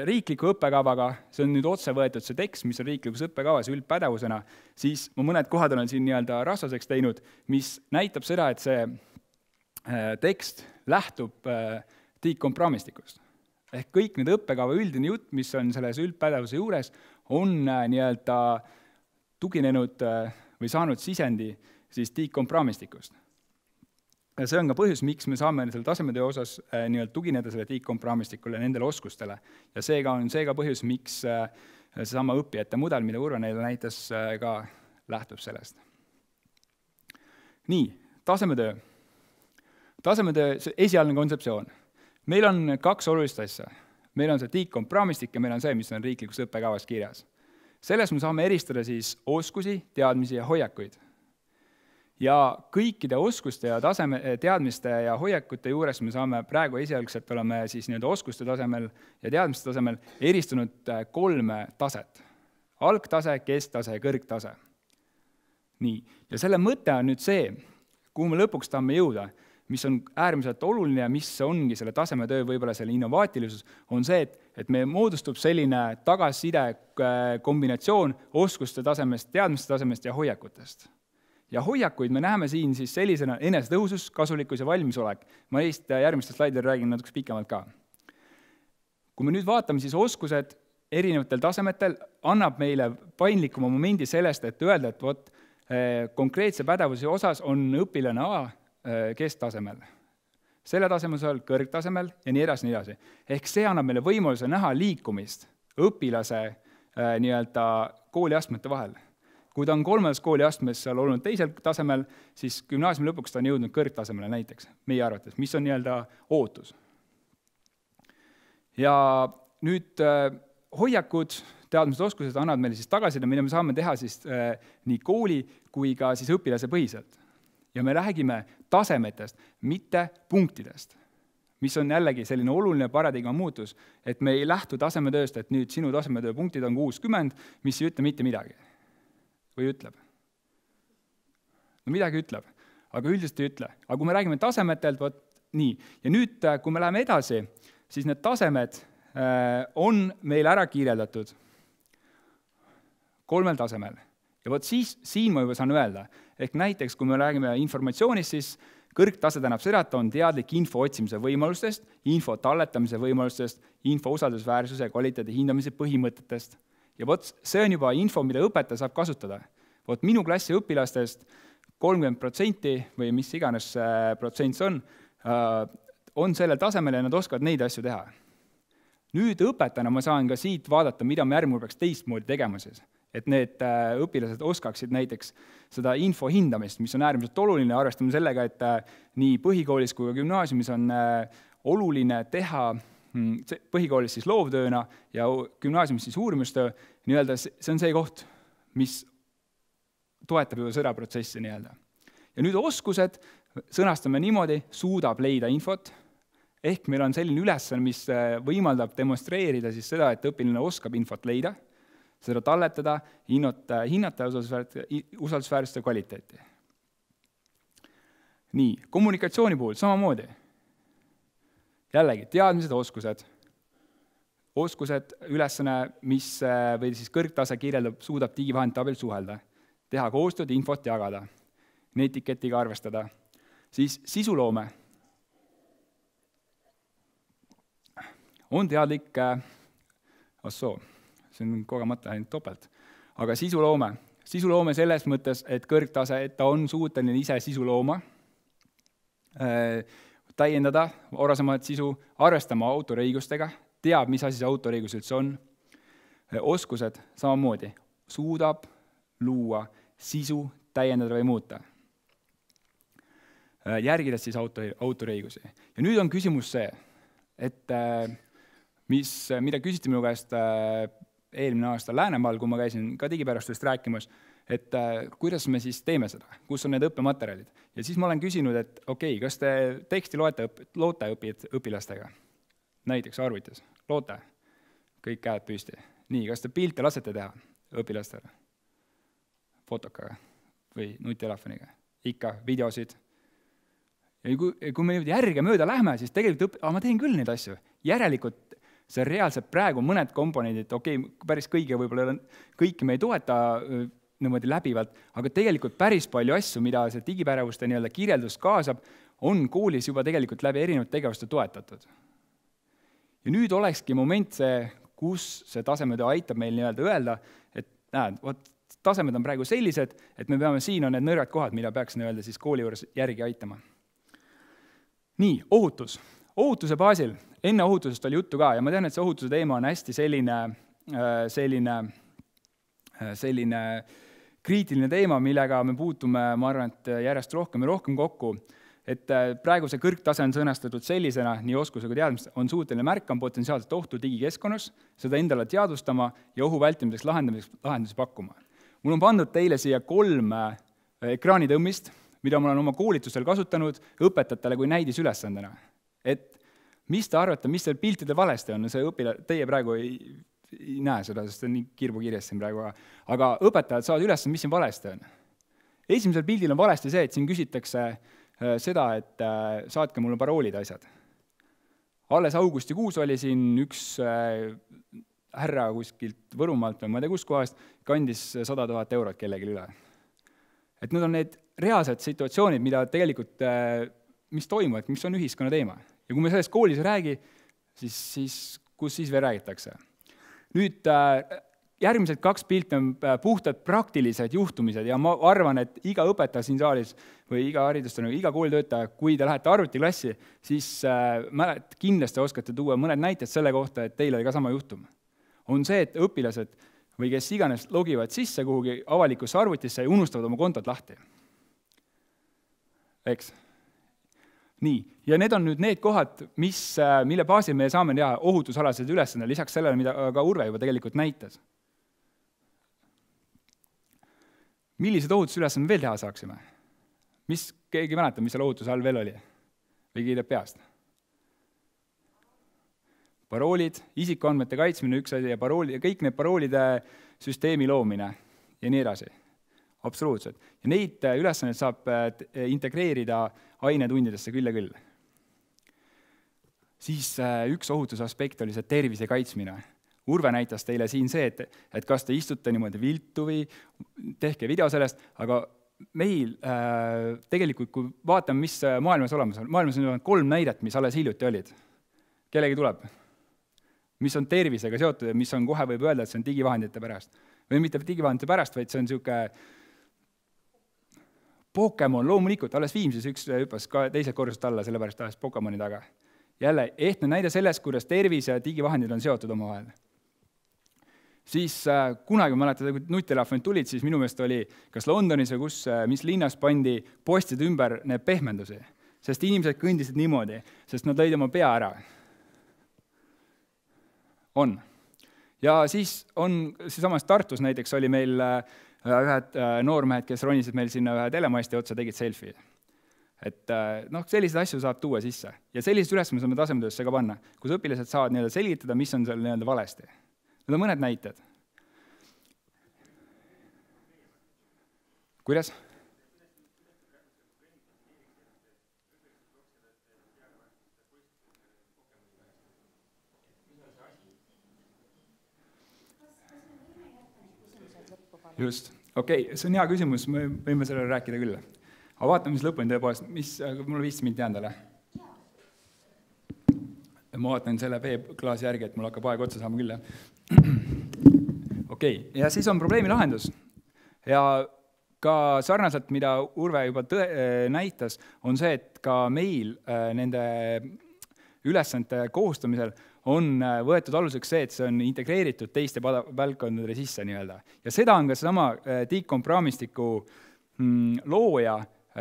F: riikliku õppekavaga, see on nüüd otse võetud see tekst, mis on riiklikus õppekavas üldpädevusena, siis ma mõned kohad olen siin rasvaseks teinud, mis näitab seda, et see tekst lähtub tiikkompraamistikust. Ehk kõik need õppekava üldine jutt, mis on selles üldpädevuse juures, on tuginenud või saanud sisendi siis tiikkompraamistikust. Ja see on ka põhjus, miks me saame selle tasemetöö osas tugineda selle tiikkompraamistikule ja nendele oskustele. Ja seega on see ka põhjus, miks seesama õppijate mudel, mida Urve neile näitas, ka lähtub sellest. Nii, tasemetöö. Tasemetöö, see esialgne kontseptsioon. Meil on 2 olulist asja. Meil on see tiikkompraamistik ja meil on see, mis on riiklikus õppekavas kirjas. Selles me saame eristada siis oskusi, teadmisi ja hoiakuid. Ja kõikide oskuste ja teadmiste ja hoiakute juures me saame praegu esialgselt oleme siis oskuste tasemel ja teadmiste tasemel eristunud 3 taset. Algtase, kesktase ja kõrgtase. Nii, ja selle mõte on nüüd see, kuhu me lõpuks tahame jõuda, mis on äärmiselt oluline ja mis ongi selle tasemetöö võib-olla selle innovaatilisus, on see, et meil moodustub selline tagasiside kombinatsioon oskuste tasemest, teadmiste tasemest ja hoiakutest. Ja hoiakuid me näeme siin siis sellisena enesetõhusus, kasulikkus ja valmisolek. Ma neist järgmistel slaididel räägin natuke pikemalt ka. Kui me nüüd vaatame, siis oskused erinevatel tasemetel annab meile paindlikuma momendi sellest, et öelda, et konkreetse pädevuse osas on õpilane A kesktasemel, selle tasemel, kõrgtasemel ja nii edasi, nii edasi. Ehk see annab meile võimaluse näha liikumist õpilase kooliastmete vahel. Kui ta on 3. kooliastmes seal olnud teisel tasemel, siis gümnaasiumi lõpuks ta on jõudnud kõrgtasemele näiteks, meie arvates, mis on ootus. Ja nüüd hoiakud, teadmised, oskused annavad meile siis tagasiside, mida me saame teha siis nii kooli kui ka siis õpilase põhiselt. Ja me räägime tasemetest, mitte punktidest, mis on jällegi selline oluline paradigma muutus, et me ei lähtu tasemetööst, et nüüd sinu tasemetöö punktid on 60, mis ei ütle mitte midagi. Või ütleb? No midagi ütleb, aga üldiselt ei ütle. Aga kui me räägime tasemetelt, nii. Ja nüüd, kui me läheme edasi, siis need tasemed on meil ära kirjeldatud 3 tasemel. Ja siin ma juba saan öelda, ehk näiteks, kui me räägime informatsioonist, siis kõrgtase tähendab seda, et on teadlik info otsimise võimalustest, info talletamise võimalustest, info usaldusväärsuse ja kvaliteedi hindamise põhimõtetest. Ja see on juba info, mida õpetaja saab kasutada. Minu klassi õpilastest 30% või mis iganes protsent on sellel tasemel ja nad oskavad neid asju teha. Nüüd õpetajana ma saan ka siit vaadata, mida me järgmine peaks teistmoodi tegema siis. Et need õpilased oskaksid näiteks seda info hindamist, mis on äärmiselt oluline, arvestame sellega, et nii põhikoolis kui ka gümnaasiumis on oluline teha põhikoolis siis loovtööna ja gümnaasiumis siis uurimustöö, see on see koht, mis toetab juba seda protsessi . Ja nüüd oskused sõnastame niimoodi, suudab leida infot, ehk meil on selline ülesanne, mis võimaldab demonstreerida siis seda, et õpilane oskab infot leida, seda talletada, hinnata usaldusväärsuse kvaliteeti. Nii, kommunikatsiooni puhul samamoodi. Jällegi, teadmised, oskused, ülesanne, mis või siis kõrgtase kirjeldab, suudab digivahendite abil suhelda, teha koostööd, infot jagada, etiketiga arvestada. Siis sisuloome on teadlik, see on kogemata ainult topelt, aga sisuloome selles mõttes, et kõrgtase, et ta on suuteline ise sisu looma, täiendada varasemat sisu, arvestama autoriõigustega, teab, mis asi see autoriõigus üldse on. Oskused samamoodi, suudab luua sisu, täiendada või muuta. Järgides siis autoriõigusi. Ja nüüd on küsimus see, et mida küsiti minu käest eelmine aasta Läänemaal, kui ma käisin ka digipärastusest rääkimas, et kuidas me siis teeme seda, kus on need õppematerjalid. Ja siis ma olen küsinud, et okei, kas te teksti loote õpilastega? Näiteks arvutis, loote, kõik käed püsti. Nii, kas te pilte lasete teha õpilastele? Fotokaga või nutitelefoniga? Ikka, videosid. Ja kui me järge mööda lähme, siis tegelikult ma teen küll neid asju. Järelikult see reaalselt praegu mõned komponendid, päris kõiki me ei toeta niimoodi läbivalt, aga tegelikult päris palju asju, mida see digipädevuste kirjeldus kaasab, on koolis juba tegelikult läbi erinevad tegevuste toetatud. Ja nüüd olekski moment see, kus see tasemetöö aitab meil öelda, et tasemed on praegu sellised, et me peame, siin on need nõrgad kohad, mida peaks siis kooli juures järgi aitama. Nii, ohutus. Ohutuse baasil, enne ohutusest oli juttu ka ja ma tean, et see ohutuse teema on hästi selline kriitiline teema, millega me puutume, ma arvan, et järjest rohkem ja rohkem kokku, et praegu see kõrgtase on sõnastatud sellisena, nii oskuse kui teadmist, on suuteline märkama potentsiaalset ohtu digikeskkonnas, seda endale teadvustama ja ohu vältimiseks lahendusi pakkuma. Mul on pandud teile siia 3 ekraanitõmmist, mida ma olen oma koolitusel kasutanud õpetajatele kui näidisülesandena. Et mis te arvate, mis seal piltide valesti on? Teie praegu ei näe seda, sest see on nii kirbukirjas siin praegu. Aga õpetajad saavad üles, mis siin valesti on. Esimesel pildil on valesti see, et siin küsitakse seda, et saatke mulle paroolid asjad. Alles augustikuus oli siin üks härra kuskilt Võrumaalt või ma ei tea kuskohast, kandis 100 000 eurot kellelegi üle. Et need on need reaalsed situatsioonid, mida tegelikult, mis toimuvad, mis on ühiskonna teema. Ja kui me sellest koolis räägi, siis kus siis veel räägitakse? Nüüd järgmised 2 pilti on puhtad praktilised juhtumised ja ma arvan, et iga õpetaja siin saalis või iga haridustena, iga koolitöötaja, kui te lähete arvutiklassi, siis kindlasti oskate tuua mõned näited selle kohta, et teil oli ka sama juhtum. On see, et õpilased või kes iganes logivad sisse kuhugi avalikusse arvutisse ja unustavad oma kontot lahti. Eks? Nii, ja need on nüüd need kohad, mille baasil me saame teha ohutusalased ülesanded, lisaks sellele, mida ka Urve juba tegelikult näitas. Millised ohutusülesanded veel teha saaksime? Keegi mäletab, mis seal ohutuse all veel oli? Või kiidab peast? Paroolid, isikuandmete kaitsmine, üks asi ja kõik need paroolide süsteemi loomine ja nii edasi. Absoluutselt. Ja neid ülesandeid saab integreerida ainetundidesse küll ja küll. Siis üks ohutusaspekt oli see tervise kaitsmine. Urve näitas teile siin see, et kas te istute niimoodi viltu või tehke video sellest, aga meil tegelikult, kui vaatame, mis maailmas olemas on, maailmas on 3 näidet, mis alles hiljuti olid. Kellegi tuleb? Mis on tervisega seotud ja mis on kohe võib öelda, et see on digivahendite pärast. Või mitte digivahendite pärast, vaid see on niisugune Pokemon, loomulikult, alles Viimsis üks hüppas ka teised korrused alla, sellepärast alles Pokemoni taga. Jälle, ehtne näide sellest, kuidas tervis ja digivahendid on seotud omavahel. Siis kunagi mäletada, kui nutitelefonid tulid, siis minu meelest oli kas Londonis või mis linnas pandi postide ümber need pehmendusi, sest inimesed kõndisid niimoodi, sest nad lõid oma pea ära. On. Ja siis on samas Tartus näiteks oli meil ühed noormehed, kes ronisid meil sinna ühe telemasti otsa, tegid selfie. Et selliseid asju saab tuua sisse. Ja sellised ülesanded saame tasemetöösse ka panna, kus õpilased saavad selgitada, mis on seal valesti. Need on mõned näited. Kuidas? Just. Okei, see on hea küsimus, me võime sellele rääkida küll. Aga vaatame, mis lõpuni tõepoolest, mul 15 minti jäänud ole. Ma vaatan selle veeklaasi järgi, et mul hakkab aeg otsa saama küll. Okei, ja siis on probleemi lahendus. Ja ka sarnaselt, mida Urve juba näitas, on see, et ka meil nende ülesannete koostamisel on võetud aluseks see, et see on integreeritud teiste valdkondade sisse nii-öelda. Ja seda on ka sama DICOMP-raamistiku looja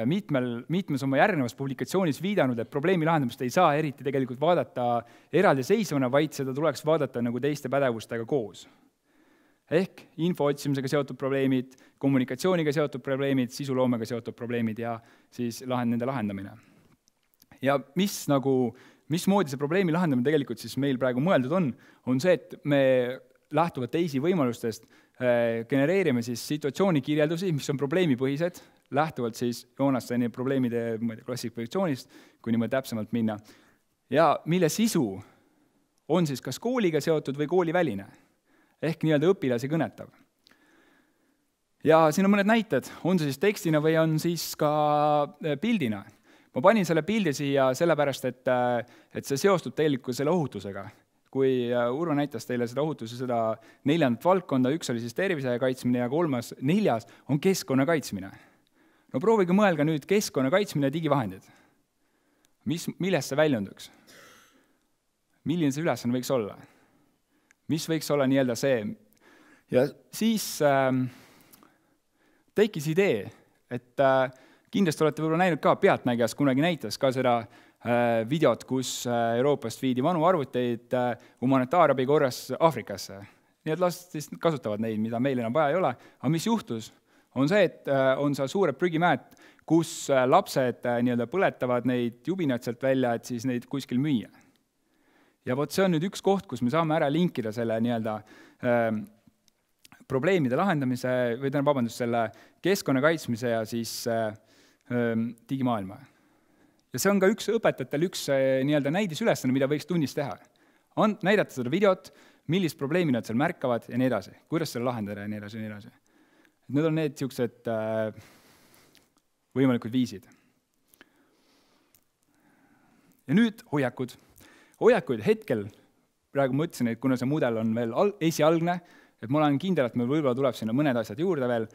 F: mitmes oma järgnevas publikatsioonis viidanud, et probleemi lahendamist ei saa eriti tegelikult vaadata eraldiseisvana, vaid seda tuleks vaadata nagu teiste pädevustega koos. Ehk info otsimisega seotud probleemid, kommunikatsiooniga seotud probleemid, sisuloomega seotud probleemid ja siis nende lahendamine. Ja mismoodi see probleemi lahendamine tegelikult siis meil praegu mõeldud on see, et me lähtuvalt teisi võimalustest genereerime siis situatsioonikirjeldusi, mis on probleemipõhised, lähtuvalt siis Joonasteni probleemide klassifikatsioonist, kui niimoodi täpsemalt minna. Ja mille sisu on siis kas kooliga seotud või kooliväline, ehk nii-öelda õpilasi kõnetav. Ja siin on mõned näited, on see siis tekstina või on siis ka pildina. Ma panin selle pildi siia sellepärast, et see seostub tegelikult selle ohutusega. Kui Urvo näitas teile seda ohutuse, seda 4. valdkonda, üks oli siis tervise kaitsmine ja 4. on keskkonna kaitsmine. No proovige mõelga nüüd keskkonna kaitsmine ja digivahendid. Millest see väljunduks? Milline see ülesanne võiks olla? Mis võiks olla nii-öelda see? Ja siis tekkis idee, et kindlasti olete võib-olla näinud ka, Pealtnägijas kunagi näitas ka seda videot, kus Euroopast viidi vanu arvuteid humanitaarabi korras Aafrikasse. Nii et lased kasutavad neid, mida meil enam vaja ei ole. Aga mis juhtus? On see, et on seal suured prügimäed, kus lapsed nii-öelda põletavad neid jubinaid sealt välja, et siis neid kuskil müüa. Ja vot see on nüüd üks koht, kus me saame ära linkida selle nii-öelda probleemide lahendamise, või selle keskkonna kaitsmise ja siis digimaailma. Ja see on ka õpetajatel üks nii-öelda näidisülesanne, mida võiks tunnis teha. Näidata seda videot, millist probleemi nad seal märkavad ja nii edasi, kuidas selle lahendada ja nii edasi ja nii edasi. Need on need siuksed võimalikud viisid. Ja nüüd hoiakud. Hoiakuid hetkel, praegu mõtlesin, et kuna see mudel on veel esialgne, et ma olen kindel, et meil võib-olla tuleb sinna mõned asjad juurde veel,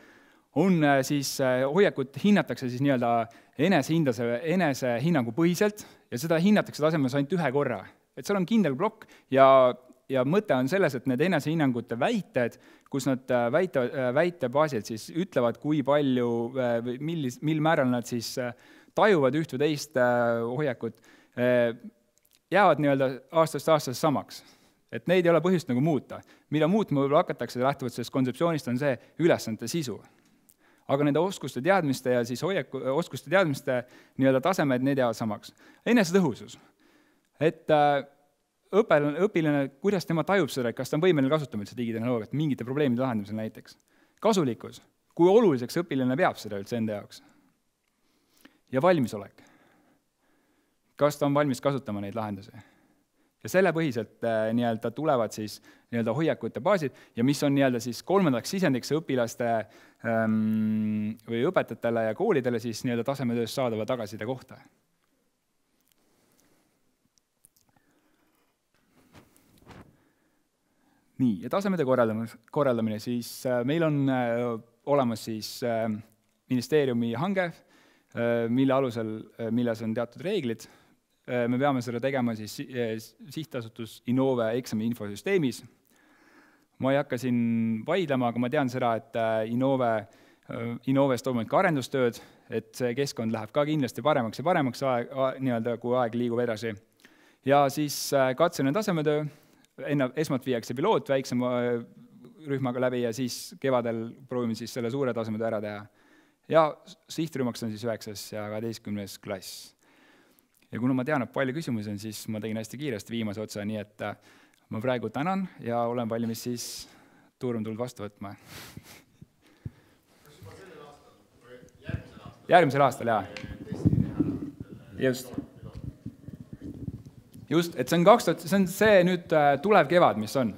F: on siis hoiakut hinnatakse siis nii-öelda enesehinnangu põhiselt ja seda hinnatakse tasemes ainult ühe korra. Et seal on kindel blokk ja mõte on selles, et need enesehinnangute väited, kus nad väite baasil siis ütlevad, kui palju, mil määral nad siis tajuvad üht või teist hoiakut, jäävad nii-öelda aastast aastast samaks. Et neid ei ole põhjust nagu muuta. Mida muutma võib-olla hakatakse lähtuvalt sellest kontseptsioonist on see ülesannete sisu. Aga nende oskuste teadmiste ja siis oskuste teadmiste nii-öelda tasemed, need jäävad samaks. Enesetõhusus. Et õpilane, kuidas tema tajub seda, kas ta on võimeline kasutama üldse digitehnoloogiat mingite probleemide lahendamisel näiteks. Kasulikkus. Kui oluliseks õpilane peab seda üldse enda jaoks. Ja valmisolek. Kas ta on valmis kasutama neid lahendusi? Ja selle põhiselt nii-öelda tulevad siis nii-öelda hoiakute baasid ja mis on nii-öelda siis 3. sisendiks õpilaste või õpetajatele ja koolidele siis nii-öelda tasemetöös saadava tagasiside kohta. Nii, ja tasemede korraldamine siis meil on olemas siis ministeeriumi hange, mille alusel, milles on teatud reeglid. Me peame seda tegema siis sihtasutus Innove eksami infosüsteemis. Ma ei hakka siin vaidlema, aga ma tean seda, et Innoves toimuvad ka arendustööd, et see keskkond läheb ka kindlasti paremaks ja paremaks, nii-öelda, kui aeg liigub edasi. Ja siis katsene tasemetöö, esmalt viiakse piloot väiksema rühmaga läbi ja siis kevadel proovime siis selle suure tasemetöö ära teha. Ja sihtrühmaks on siis 9. ja 12. klass. Ja kuna ma tean, et palju küsimusi on, siis ma tegin hästi kiiresti viimase otsa, nii et ma praegu tänan ja olen valmis siis tuurumtuld vastu võtma. Kas juba sellel aastal või järgmisel aastal? Järgmisel aastal, jaa. Just, et see on see nüüd tulev kevad, mis on.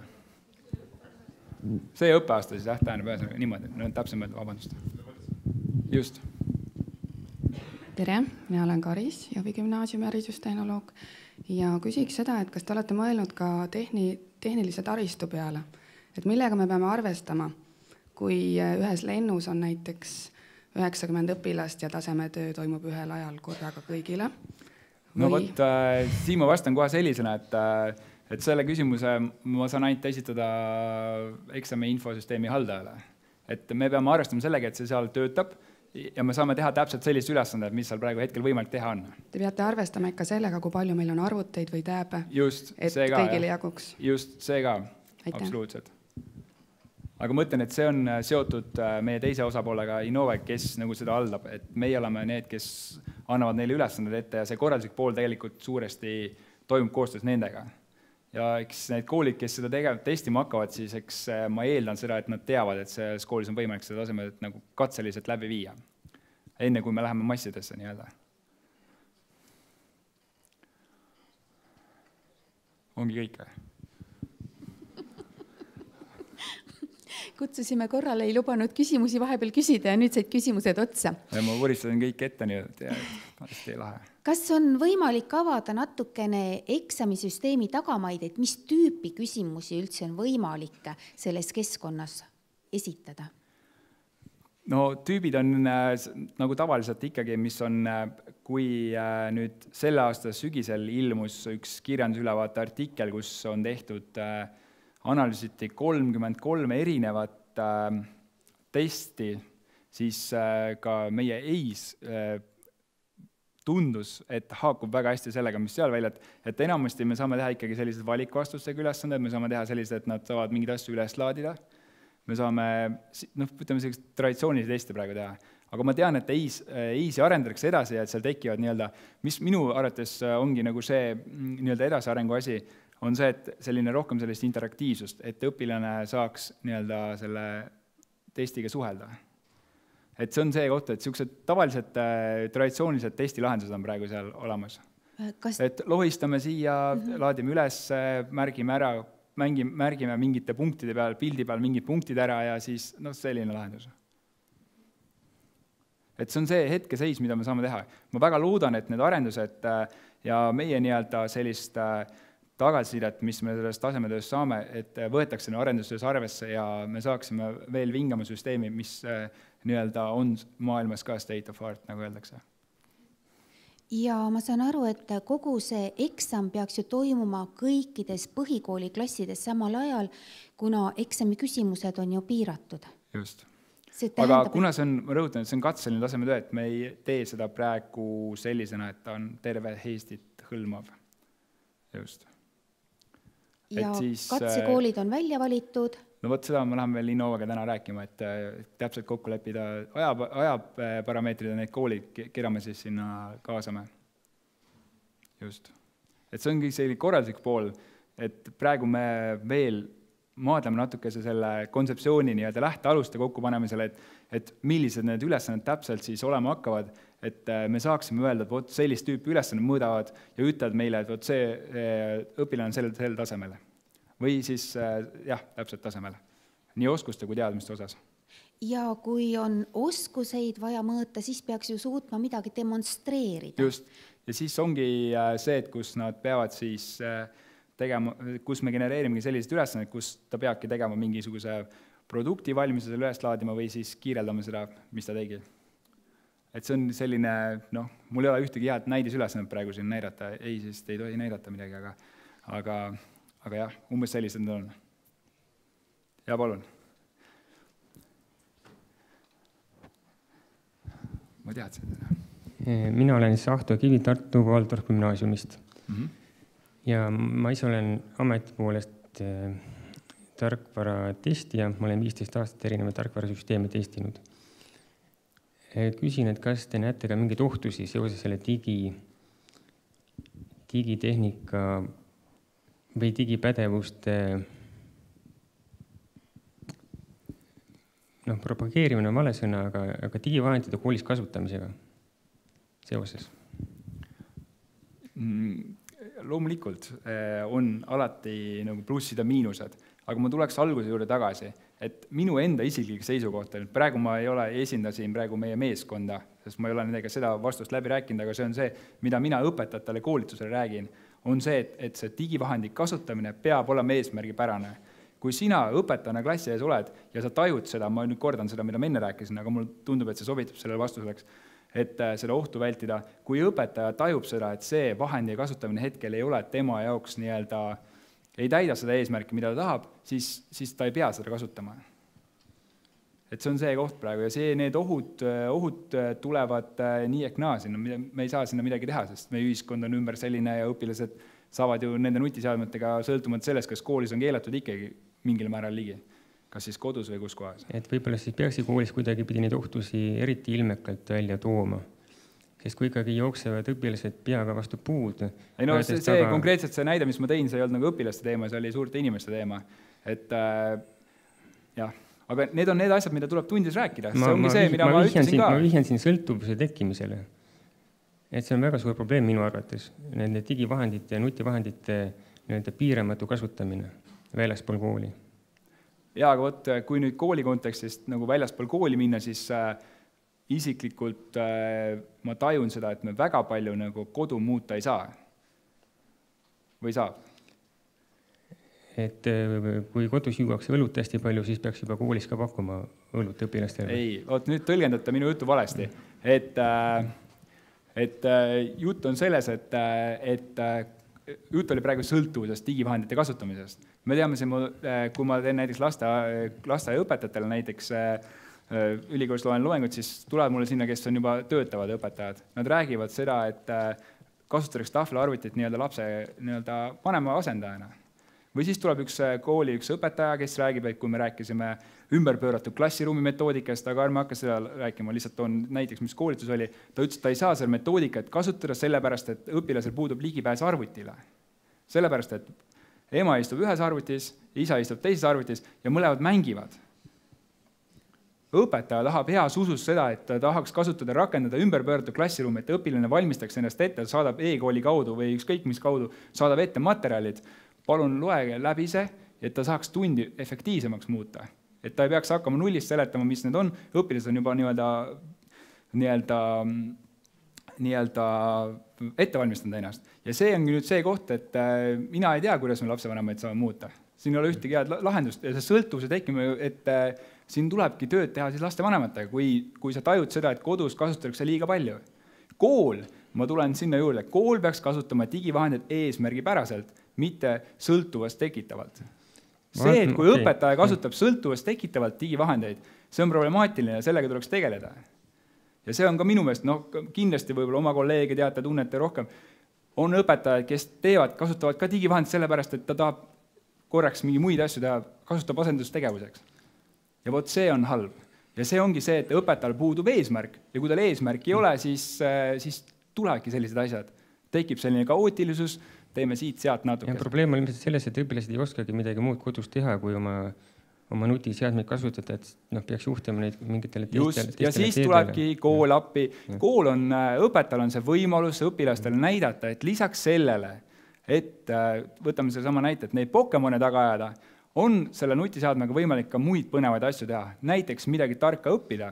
F: See õppeaasta siis, tähendab niimoodi, täpsemalt, vabandust. Just.
H: Tere, mina olen Karis, Jõhvi gümnaasiumi haridustehnoloog ja küsiks seda, et kas te olete mõelnud ka tehnilise taristu peale, et millega me peame arvestama, kui ühes lennus on näiteks 90 õpilast ja tasemetöö toimub ühel ajal korraga kõigile?
F: No vot, siin ma vastan kohe sellisena, et selle küsimuse ma saan ainult esitada eksami infosüsteemi haldajale. Et me peame arvestama sellega, et see seal töötab ja me saame teha täpselt sellist ülesanded, mis seal praegu hetkel võimalik teha on.
H: Te peate arvestama ikka sellega, kui palju meil on arvuteid või tääbe,
F: just,
H: et
F: see ka,
H: kõigile jaguks.
F: Just, see ka, absoluutselt. Aga ma mõtlen, et see on seotud meie teise osapoolega Innove, kes nagu seda haldab, et meie oleme need, kes annavad neile ülesanded ette ja see korralduslik pool tegelikult suuresti toimub koostöös nendega. Ja eks need koolid, kes seda testima hakkavad, siis eks ma eeldan seda, et nad teavad, et selles koolis on võimalik seda tasemel nagu katseliselt läbi viia, enne kui me läheme massidesse nii-öelda. Ongi kõik või?
A: Kutsusime korrale, ei lubanud küsimusi vahepeal küsida ja nüüd said küsimused otsa.
F: Ja ma võristasin kõik ette nii-öelda ja hästi lahe.
A: Kas on võimalik avada natukene eksamisüsteemi tagamaid, et mis tüüpi küsimusi üldse on võimalik selles keskkonnas esitada?
F: No tüübid on nagu tavaliselt ikkagi, mis on, kui nüüd selle aasta sügisel ilmus üks kirjandusülevaate artikkel, kus on tehtud analüüsiti 33 erinevat testi, siis ka meie EIS tundus, et haakub väga hästi sellega, mis seal välja, et enamasti me saame teha ikkagi sellised valikvastustega ülesanded, me saame teha sellised, et nad saavad mingeid asju üles laadida, me saame, ütleme sellised traditsioonilisi teste praegu teha. Aga ma tean, et EIS-i arendatakse edasi ja et seal tekivad nii-öelda, mis minu arvates ongi nagu see nii-öelda edasiarengu asi, on see, et selline rohkem sellist interaktiivsust, et õpilane saaks nii-öelda selle testiga suhelda. Et see on see koht, et sellised tavalised traditsioonilised testilahendused on praegu seal olemas. Et lohistame siia, laadime üles, märgime ära, märgime mingite punktide peal, pildi peal mingid punktid ära ja siis selline lahendus. Et see on see hetkeseis, mida me saame teha. Ma väga loodan, et need arendused ja meie nii-öelda sellist tagasisidet, mis me sellest tasemetöös saame, et võetakse arendustöös arvesse ja me saaksime veel vingama süsteemi, mis nii-öelda on maailmas ka state of art, nagu öeldakse.
A: Ja ma saan aru, et kogu see eksam peaks ju toimuma kõikides põhikooliklassides samal ajal, kuna eksami küsimused on ju piiratud.
F: Just. Aga kuna see on, ma rõhutan, et see on katseline tasemetöö, et me ei tee seda praegu sellisena, et ta on terve Eestit hõlmav. Just.
A: Ja katsekoolid on välja valitud.
F: No võt seda me läheme veel Innovaga täna rääkima, et täpselt kokku leppida ajaparameetrid ja need koolid, keda me siis sinna kaasame. Just. Et see ongi selline korralduslik pool, et praegu me veel maadleme natukese selle kontseptsiooni nii-öelda lähtealuste kokkupanemisele, et millised need ülesanded täpselt siis olema hakkavad, et me saaksime öelda, et võt sellist tüüpi ülesanded mõõdavad ja ütlevad meile, et võt see õpilane on sel tasemel. Või siis, täpselt tasemel. Nii oskuste kui teadmiste osas.
A: Ja kui on oskuseid vaja mõõta, siis peaks ju suutma midagi demonstreerida.
F: Just. Ja siis ongi see, et kus nad peavad siis tegema, kus me genereerimegi sellised ülesanded, kus ta peabki tegema mingisuguse produkti valmisuse üles laadima või siis kiireldama seda, mis ta tegi. Et see on selline, mul ei ole ühtegi head näidisülesannet praegu siin näidata, ei, sest ei tohi näidata midagi, aga jah, umbes sellised on. Ja palun. Ma teadsin seda.
G: Mina olen Ahto Kivi Tartu Valdorf gümnaasiumist. Ja ma ise olen ameti poolest tarkvara testija, ma olen 15 aastat erinevaid tarkvarasüsteeme testinud. Küsin, et kas te näete ka mingeid ohtusi seoses selle digitehnika või digipädevuste propageerimine on vale sõna, aga digivahendite koolis kasutamisega seoses?
F: Loomulikult on alati nagu plussid ja miinused, aga ma tuleks alguse juurde tagasi, et minu enda isiklik seisukoht, et praegu ma esindasin praegu meie meeskonda, sest ma ei ole nendega seda vastust läbi rääkinud, aga see on see, mida mina õpetajatele koolitusele räägin, on see, et see digivahendi kasutamine peab olema eesmärgipärane. kui sina õpetajana klassi ees oled ja sa tajud seda, ma nüüd kordan seda, mida ma enne rääkisin, aga mulle tundub, et see sobitab sellele vastuseks, et seda ohtu vältida, kui õpetaja tajub seda, et see vahendi kasutamine hetkel ei ole tema jaoks nii-öelda, ei täida seda eesmärki, mida ta tahab, siis ta ei pea seda kasutama. Et see on see koht praegu ja need ohud tulevad nii ehk naa sinna, me ei saa sinna midagi teha, sest meie ühiskond on ümber selline ja õpilased saavad ju nende nutiseadmetega sõltumata sellest, kas koolis on keelatud ikkagi mingil määral ligi. Kas siis kodus või kus kohas?
G: Et võib-olla siis peaksid koolis kuidagi pidi neid ohtusi eriti ilmekalt välja tooma. Sest kui ikkagi jooksevad õpilased peaga vastu puud.
F: Ei no see konkreetselt see näide, mis ma tõin, see ei olnud nagu õpilaste teema, see oli suurte inimeste teema. Et jah, aga need on need asjad, mida tuleb tundis rääkida. See ongi see, mida ma ütlesin ka.
G: Ma vihjan siin sõltuvuse tekkimisele. Et see on väga suur probleem minu arvates. Nende digivahendite ja nutivahendite piiramatu kasutamine väljaspool kooli.
F: Jaa, aga võt, kui nüüd kooli kontekstist nagu väljaspool kooli minna, siis isiklikult ma tajun seda, et me väga palju nagu kodu muuta ei saa. Või saab? Et kui kodus juuakse õlut hästi palju, siis peaks juba koolis ka pakkuma õlut õpilastele. Ei, nüüd tõlgendate minu juttu valesti. Et jutt on selles, et jutt oli praegu sõltuvusest digivahendite kasutamisest. Me teame, kui ma teen näiteks lasteaiaõpetajatele näiteks ülikoolis loen loengut, siis tulevad mulle sinna, kes on juba töötavad õpetajad. Nad räägivad seda, et kasutatakse tahvelarvutit lapse vanema asendajana. Või siis tuleb üks õpetaja, kes räägib, et kui me rääkisime ümberpööratud klassiruumi metoodikast, aga ärme hakka seda rääkima, lihtsalt on näiteks, mis koolitus oli, ta ütles, et ta ei saa selle metoodikat kasutada sellepärast, et õpilasel puudub ligipääs arvutile. Sellepärast, et ema istub ühes arvutis, isa istub teises arvutis ja mõlemad mängivad. Õpetaja tahab heas usus seda, et ta tahaks kasutada, rakendada ümberpööratud klassiruumi, et õpilane valmistaks ennast ette, saadab e-kooli kaudu või ükskõik mis kaudu, saadab ette materjalid. Palun loege läbi see, et ta saaks tundi efektiivsemaks muuta. Et ta ei peaks hakkama nullist seletama, mis need on. Õpilased on juba nii-öelda ettevalmistanud ennast. Ja see on nüüd see koht, et mina ei tea, kuidas me lapsevanemaid saame muuta. Siin ei ole ühtegi head lahendust ja see sõltuvuse tekkima, et siin tulebki tööd teha siis lastevanematega, kui sa tajud seda, et kodus kasutatakse liiga palju. Kool, ma tulen sinna juurde, kool peaks kasutama digivahendid eesmärgipäraselt, mitte sõltuvast tekitavalt. See, et kui õpetaja kasutab sõltuvast tekitavalt digivahendeid, see on problemaatiline ja sellega tuleks tegeleda. Ja see on ka minu meelest, kindlasti võib-olla oma kolleege teate, tunnete rohkem, on õpetajad, kes kasutavad ka digivahendid sellepärast, et ta tahab korraks mingi muid asju teha, kasutab asendustegevuseks. Ja vot see on halb. Ja see ongi see, et õpetajal puudub eesmärk ja kui tal eesmärk ei ole, siis tulevadki sellised asjad. Tekib selline kaootilisus, teeme siit-sealt natuke.
G: Ja probleem on ilmselt selles, et õpilased ei oskagi midagi muud kodus teha, kui oma nutiseadmeid kasutada, et peaks juhtima neid mingitele teistele.
F: Ja siis tulebki kool appi. Kool on, õpetajal on see võimalus õpilastele näidata, et lisaks sellele, et võtame selle sama näite, et neid Pokemone taga ajada, on selle nutiseadmega võimalik ka muid põnevaid asju teha. Näiteks midagi tarka õppida.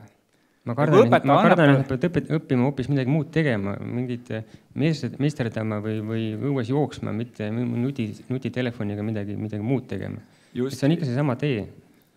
G: Ma kardan, et pead õppima hoopis midagi muud tegema, mingit meisterdama või õues jooksma, mitte nutitelefoniga midagi muud tegema. See on ikka see sama tee.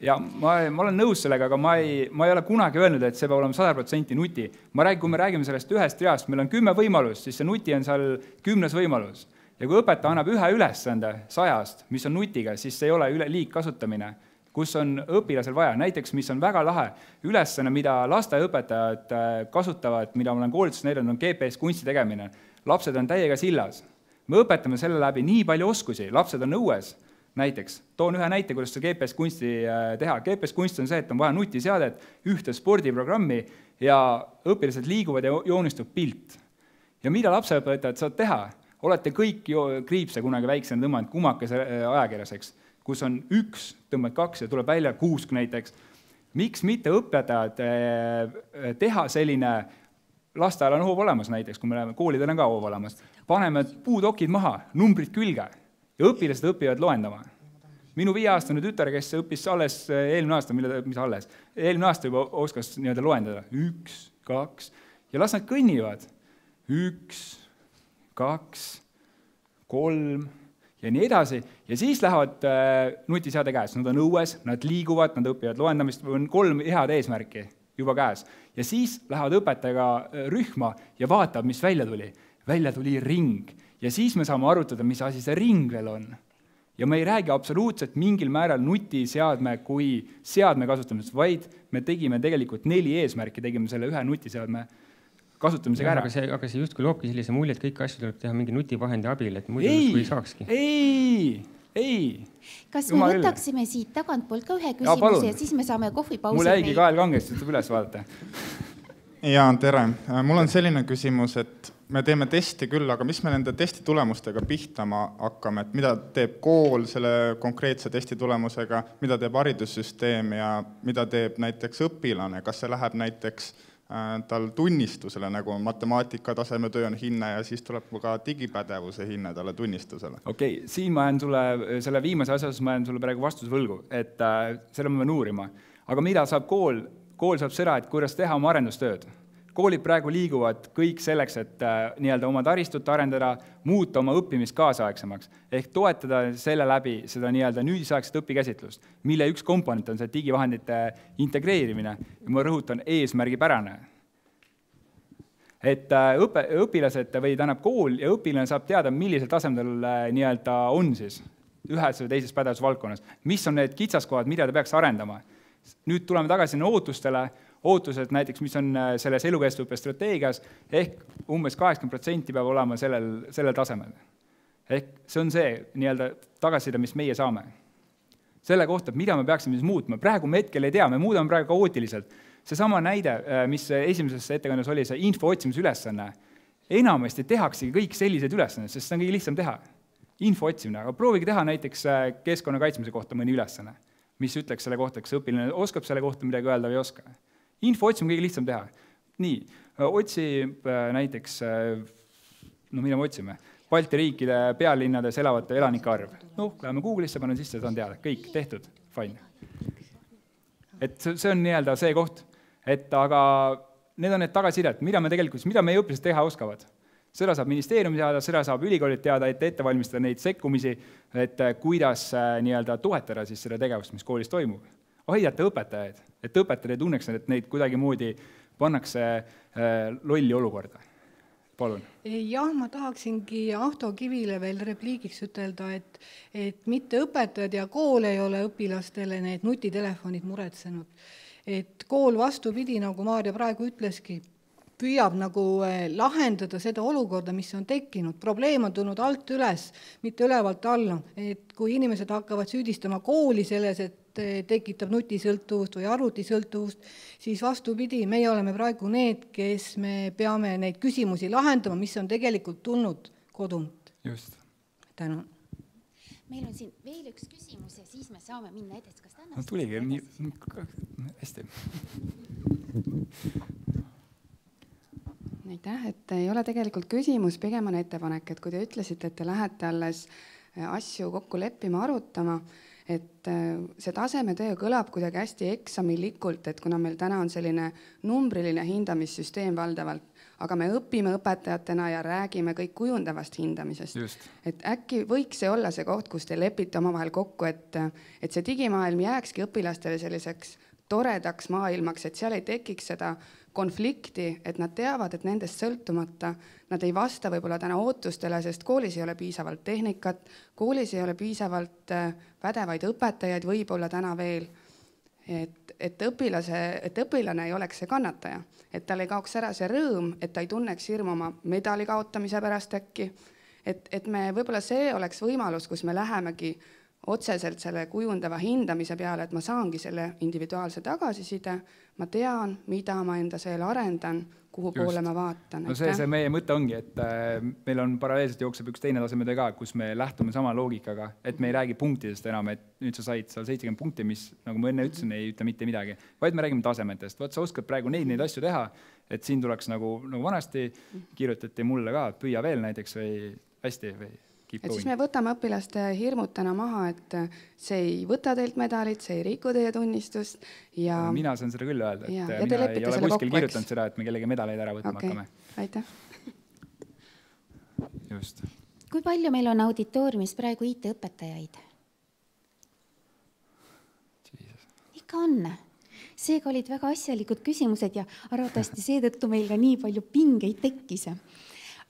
F: Ja ma olen nõus sellega, aga ma ei ole kunagi öelnud, et see peab olema 100% nuti. Kui me räägime sellest ühest reast, meil on 10 võimalust, siis see nuti on seal 10. võimalus. Ja kui õpetaja annab ühe ülesande 100, mis on nutiga, siis see ei ole liigkasutamine, kus on õpilasel vaja. Näiteks, mis on väga lahe ülesanne, mida lasteaiaõpetajad kasutavad, mida ma olen koolitusest näidanud, on GPS kunsti tegemine. Lapsed on täiega sillas. Me õpetame selle läbi nii palju oskusi, lapsed on õues. Näiteks, toon ühe näite, kuidas see GPS kunsti teha. GPS kunst on see, et on vaja nutiseadet, ühte spordiprogrammi ja õpilased liiguvad ja joonistub pilt. Ja mida lapseõpetajad saavad teha? Olete kõik kriipse kunagi väiksena tõmmanud kumakese ajakirjaseks, kus on 1, tõmbad 2 ja tuleb välja 6 näiteks. Miks mitte õpetajad teha selline, lasteajal on hoov olemas näiteks, kui me läheme, koolidel on ka hoov olemas, paneme puudokid maha, numbrid külge ja õpilased õpivad loendama. Minu 5-aastane tütar, kes õppis alles eelmine aasta juba oskas loendada. 1, 2 ja las nad kõnnivad. 1, 2, 3 ja nii edasi. Ja siis lähevad nutiseade käes, nad on õues, nad liiguvad, nad õpivad loendamist, on 3 head eesmärki juba käes. Ja siis lähevad õpetajaga rühma ja vaatab, mis välja tuli. Välja tuli ring. Ja siis me saame arutada, mis asi see ring veel on. Ja me ei räägi absoluutselt mingil määral nutiseadme kui seadme kasutamisest, vaid me tegime tegelikult 4 eesmärki, tegime selle 1 nutiseadme kasutamisega ära.
G: Aga see justkui loobki sellise mulje, et kõik asju tuleb teha mingi nutivahendi abil, et muidu ei saakski.
F: Ei.
A: Kas me võtaksime siit tagantpoolt ka ühe küsimuse ja siis me saame kohvipausi?
F: Mul jäigi kael kangest, ütleb üles vaadata.
I: Ja, tere. Mul on selline küsimus, et me teeme testi küll, aga mis me nende testi tulemustega pihtama hakkame, et mida teeb kool selle konkreetse testi tulemusega, mida teeb haridussüsteem ja mida teeb näiteks õpilane, kas see läheb näiteks tal tunnistusele, nagu matemaatika tasemetöö on hinne ja siis tuleb ka digipädevuse hinne talle tunnistusele.
F: Okei, siin ma jään sulle, selle viimase asjas ma jään sulle praegu vastuse võlgu, et selle ma pean uurima. Aga mida saab kool? Kool saab seda, et kuidas teha oma arendustööd. Koolid praegu liiguvad kõik selleks, et nii-öelda oma taristut arendada, muuta oma õppimist kaasaegsemaks, ehk toetada selle läbi seda nii-öelda nüüdisaegset õpikäsitlust, mille üks komponent on see digivahendite integreerimine. Ja ma rõhutan eesmärgipärane. Et õpilased või tähendab kool ja õpilane saab teada, millisel tasemel nii-öelda on siis ühes või teises pädevusvaldkonnas, mis on need kitsaskohad, mida ta peaks arendama. Nüüd tuleme tagasi ootused näiteks, mis on selles elukestvuõppe strateegias, ehk umbes 80% peab olema sellel tasemel. Ehk see on see nii-öelda tagasiside, mis meie saame. Selle kohta, mida me peaksime siis muutma. Praegu me hetkel ei tea, me muudame praegu kaootiliselt. See sama näide, mis esimeses ettekandes oli, see info otsimise ülesanne. Enamasti tehaksegi kõik sellised ülesanned, sest see on kõige lihtsam teha. Info otsimine, aga proovige teha näiteks keskkonna kaitsmise kohta mõni ülesanne, mis ütleks selle kohta, kas õpilane oskab selle kohta midagi öelda või ei oska. Info otsimine kõige lihtsam teha. Nii, otsib näiteks, mida me otsime? Balti riikide pealinnades elavate elanike arv. Läheme Google'isse, panen sisse, saan teada. Kõik, tehtud, fine. Et see on nii-öelda see koht. Aga need on need tagasidet, mida meie õpilased teha oskavad. Seda saab ministeerium teada, seda saab ülikoolid teada, et ette valmistada neid sekkumisi, et kuidas nii-öelda toetada siis seda tegevust, mis koolis toimub. Aidata õpetajaid, et õpetajad ei tunneks, et neid kuidagi moodi pannakse lolli olukorda. Palun.
J: Jah, ma tahaksingi Ahto Kivile veel repliigiks ütelda, et mitte õpetajad ja kool ei ole õpilastele need nutitelefonid muretsenud. Et kool vastupidi, nagu Maarja praegu ütleski, püüab nagu lahendada seda olukorda, mis on tekkinud. Probleem on tulnud alt üles, mitte ülevalt alla. Et kui inimesed hakkavad süüdistama kooli selles, et tekitab nutisõltuvust või arvutisõltuvust, siis vastupidi, meie oleme praegu need, kes me peame neid küsimusi lahendama, mis on tegelikult tulnud kodunt.
F: Just.
J: Tänan.
A: Meil on siin veel üks küsimus ja siis me saame minna edasi. Kas täna?
F: No tuligi, hästi.
H: Aitäh, et ei ole tegelikult küsimus, pigem on ettepanek, et kui te ütlesite, et te lähete alles asju kokku leppima, arutama, et see tasemetöö kõlab kuidagi hästi eksamilikult, et kuna meil täna on selline numbriline hindamissüsteem valdavalt, aga me õpime õpetajatena ja räägime kõik kujundavast hindamisest.
F: Just.
H: Et äkki võiks see olla see koht, kus te lepite omavahel kokku, et see digimaailm jääkski õpilastele selliseks toredaks maailmaks, et seal ei tekiks seda konflikti, et nad teavad, et nendest sõltumata nad ei vasta võib-olla täna ootustele, sest koolis ei ole piisavalt tehnikat, koolis ei ole piisavalt pädevaid õpetajaid võib-olla täna veel, et õpilane ei oleks see kannataja, et tal ei kaoks ära see rõõm, et ta ei tunneks hirmu oma medali kaotamise pärast äkki, et me võib-olla see oleks võimalus, kus me lähemegi otseselt selle kujundava hindamise peale, et ma saangi selle individuaalse tagasiside, ma tean, mida ma enda seal arendan, kuhu poole ma vaatan.
F: No see meie mõte ongi, et meil on paralleelselt jookseb üks teine tasemetöö ka, kus me lähtume sama loogikaga, et me ei räägi punktidest enam, et nüüd sa said seal 70 punkti, mis, nagu ma enne ütlesin, ei ütle mitte midagi, vaid me räägime tasemetest. Vaat sa oskad praegu neid asju teha, et siin tuleks nagu vanasti kirjutati mulle ka, püüa veel näiteks või hästi või
H: et siis me võtame õpilaste hirmud täna maha, et see ei võta teilt medalit, see ei riku teie tunnistust. Ja
F: mina saan seda küll öelda, et mina ei ole kuskil kirjutanud seda, et me kellegi medaleid ära võtma hakkame.
H: Aitäh.
F: Just.
A: kui palju meil on auditooriumis praegu IT-õpetajaid? Ikka on. Seega olid väga asjalikud küsimused ja arvatavasti seetõttu meil ka nii palju pingeid tekkis.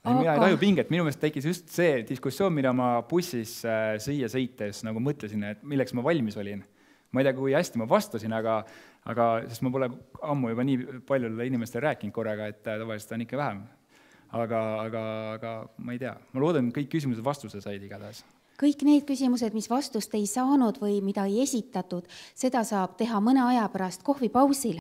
F: Mina ei taju pinget, minu meelest tekkis just see diskussioon, mida ma bussis siia sõites nagu mõtlesin, et milleks ma valmis olin. Ma ei tea, kui hästi ma vastasin, aga sest ma pole ammu juba nii paljudele inimestele rääkinud korraga, et tavaliselt on ikka vähem. Aga ma ei tea. Ma loodan, et kõik küsimused vastuse said igatahes.
A: Kõik need küsimused, mis vastust ei saanud või mida ei esitatud, seda saab teha mõne aja pärast kohvipausil.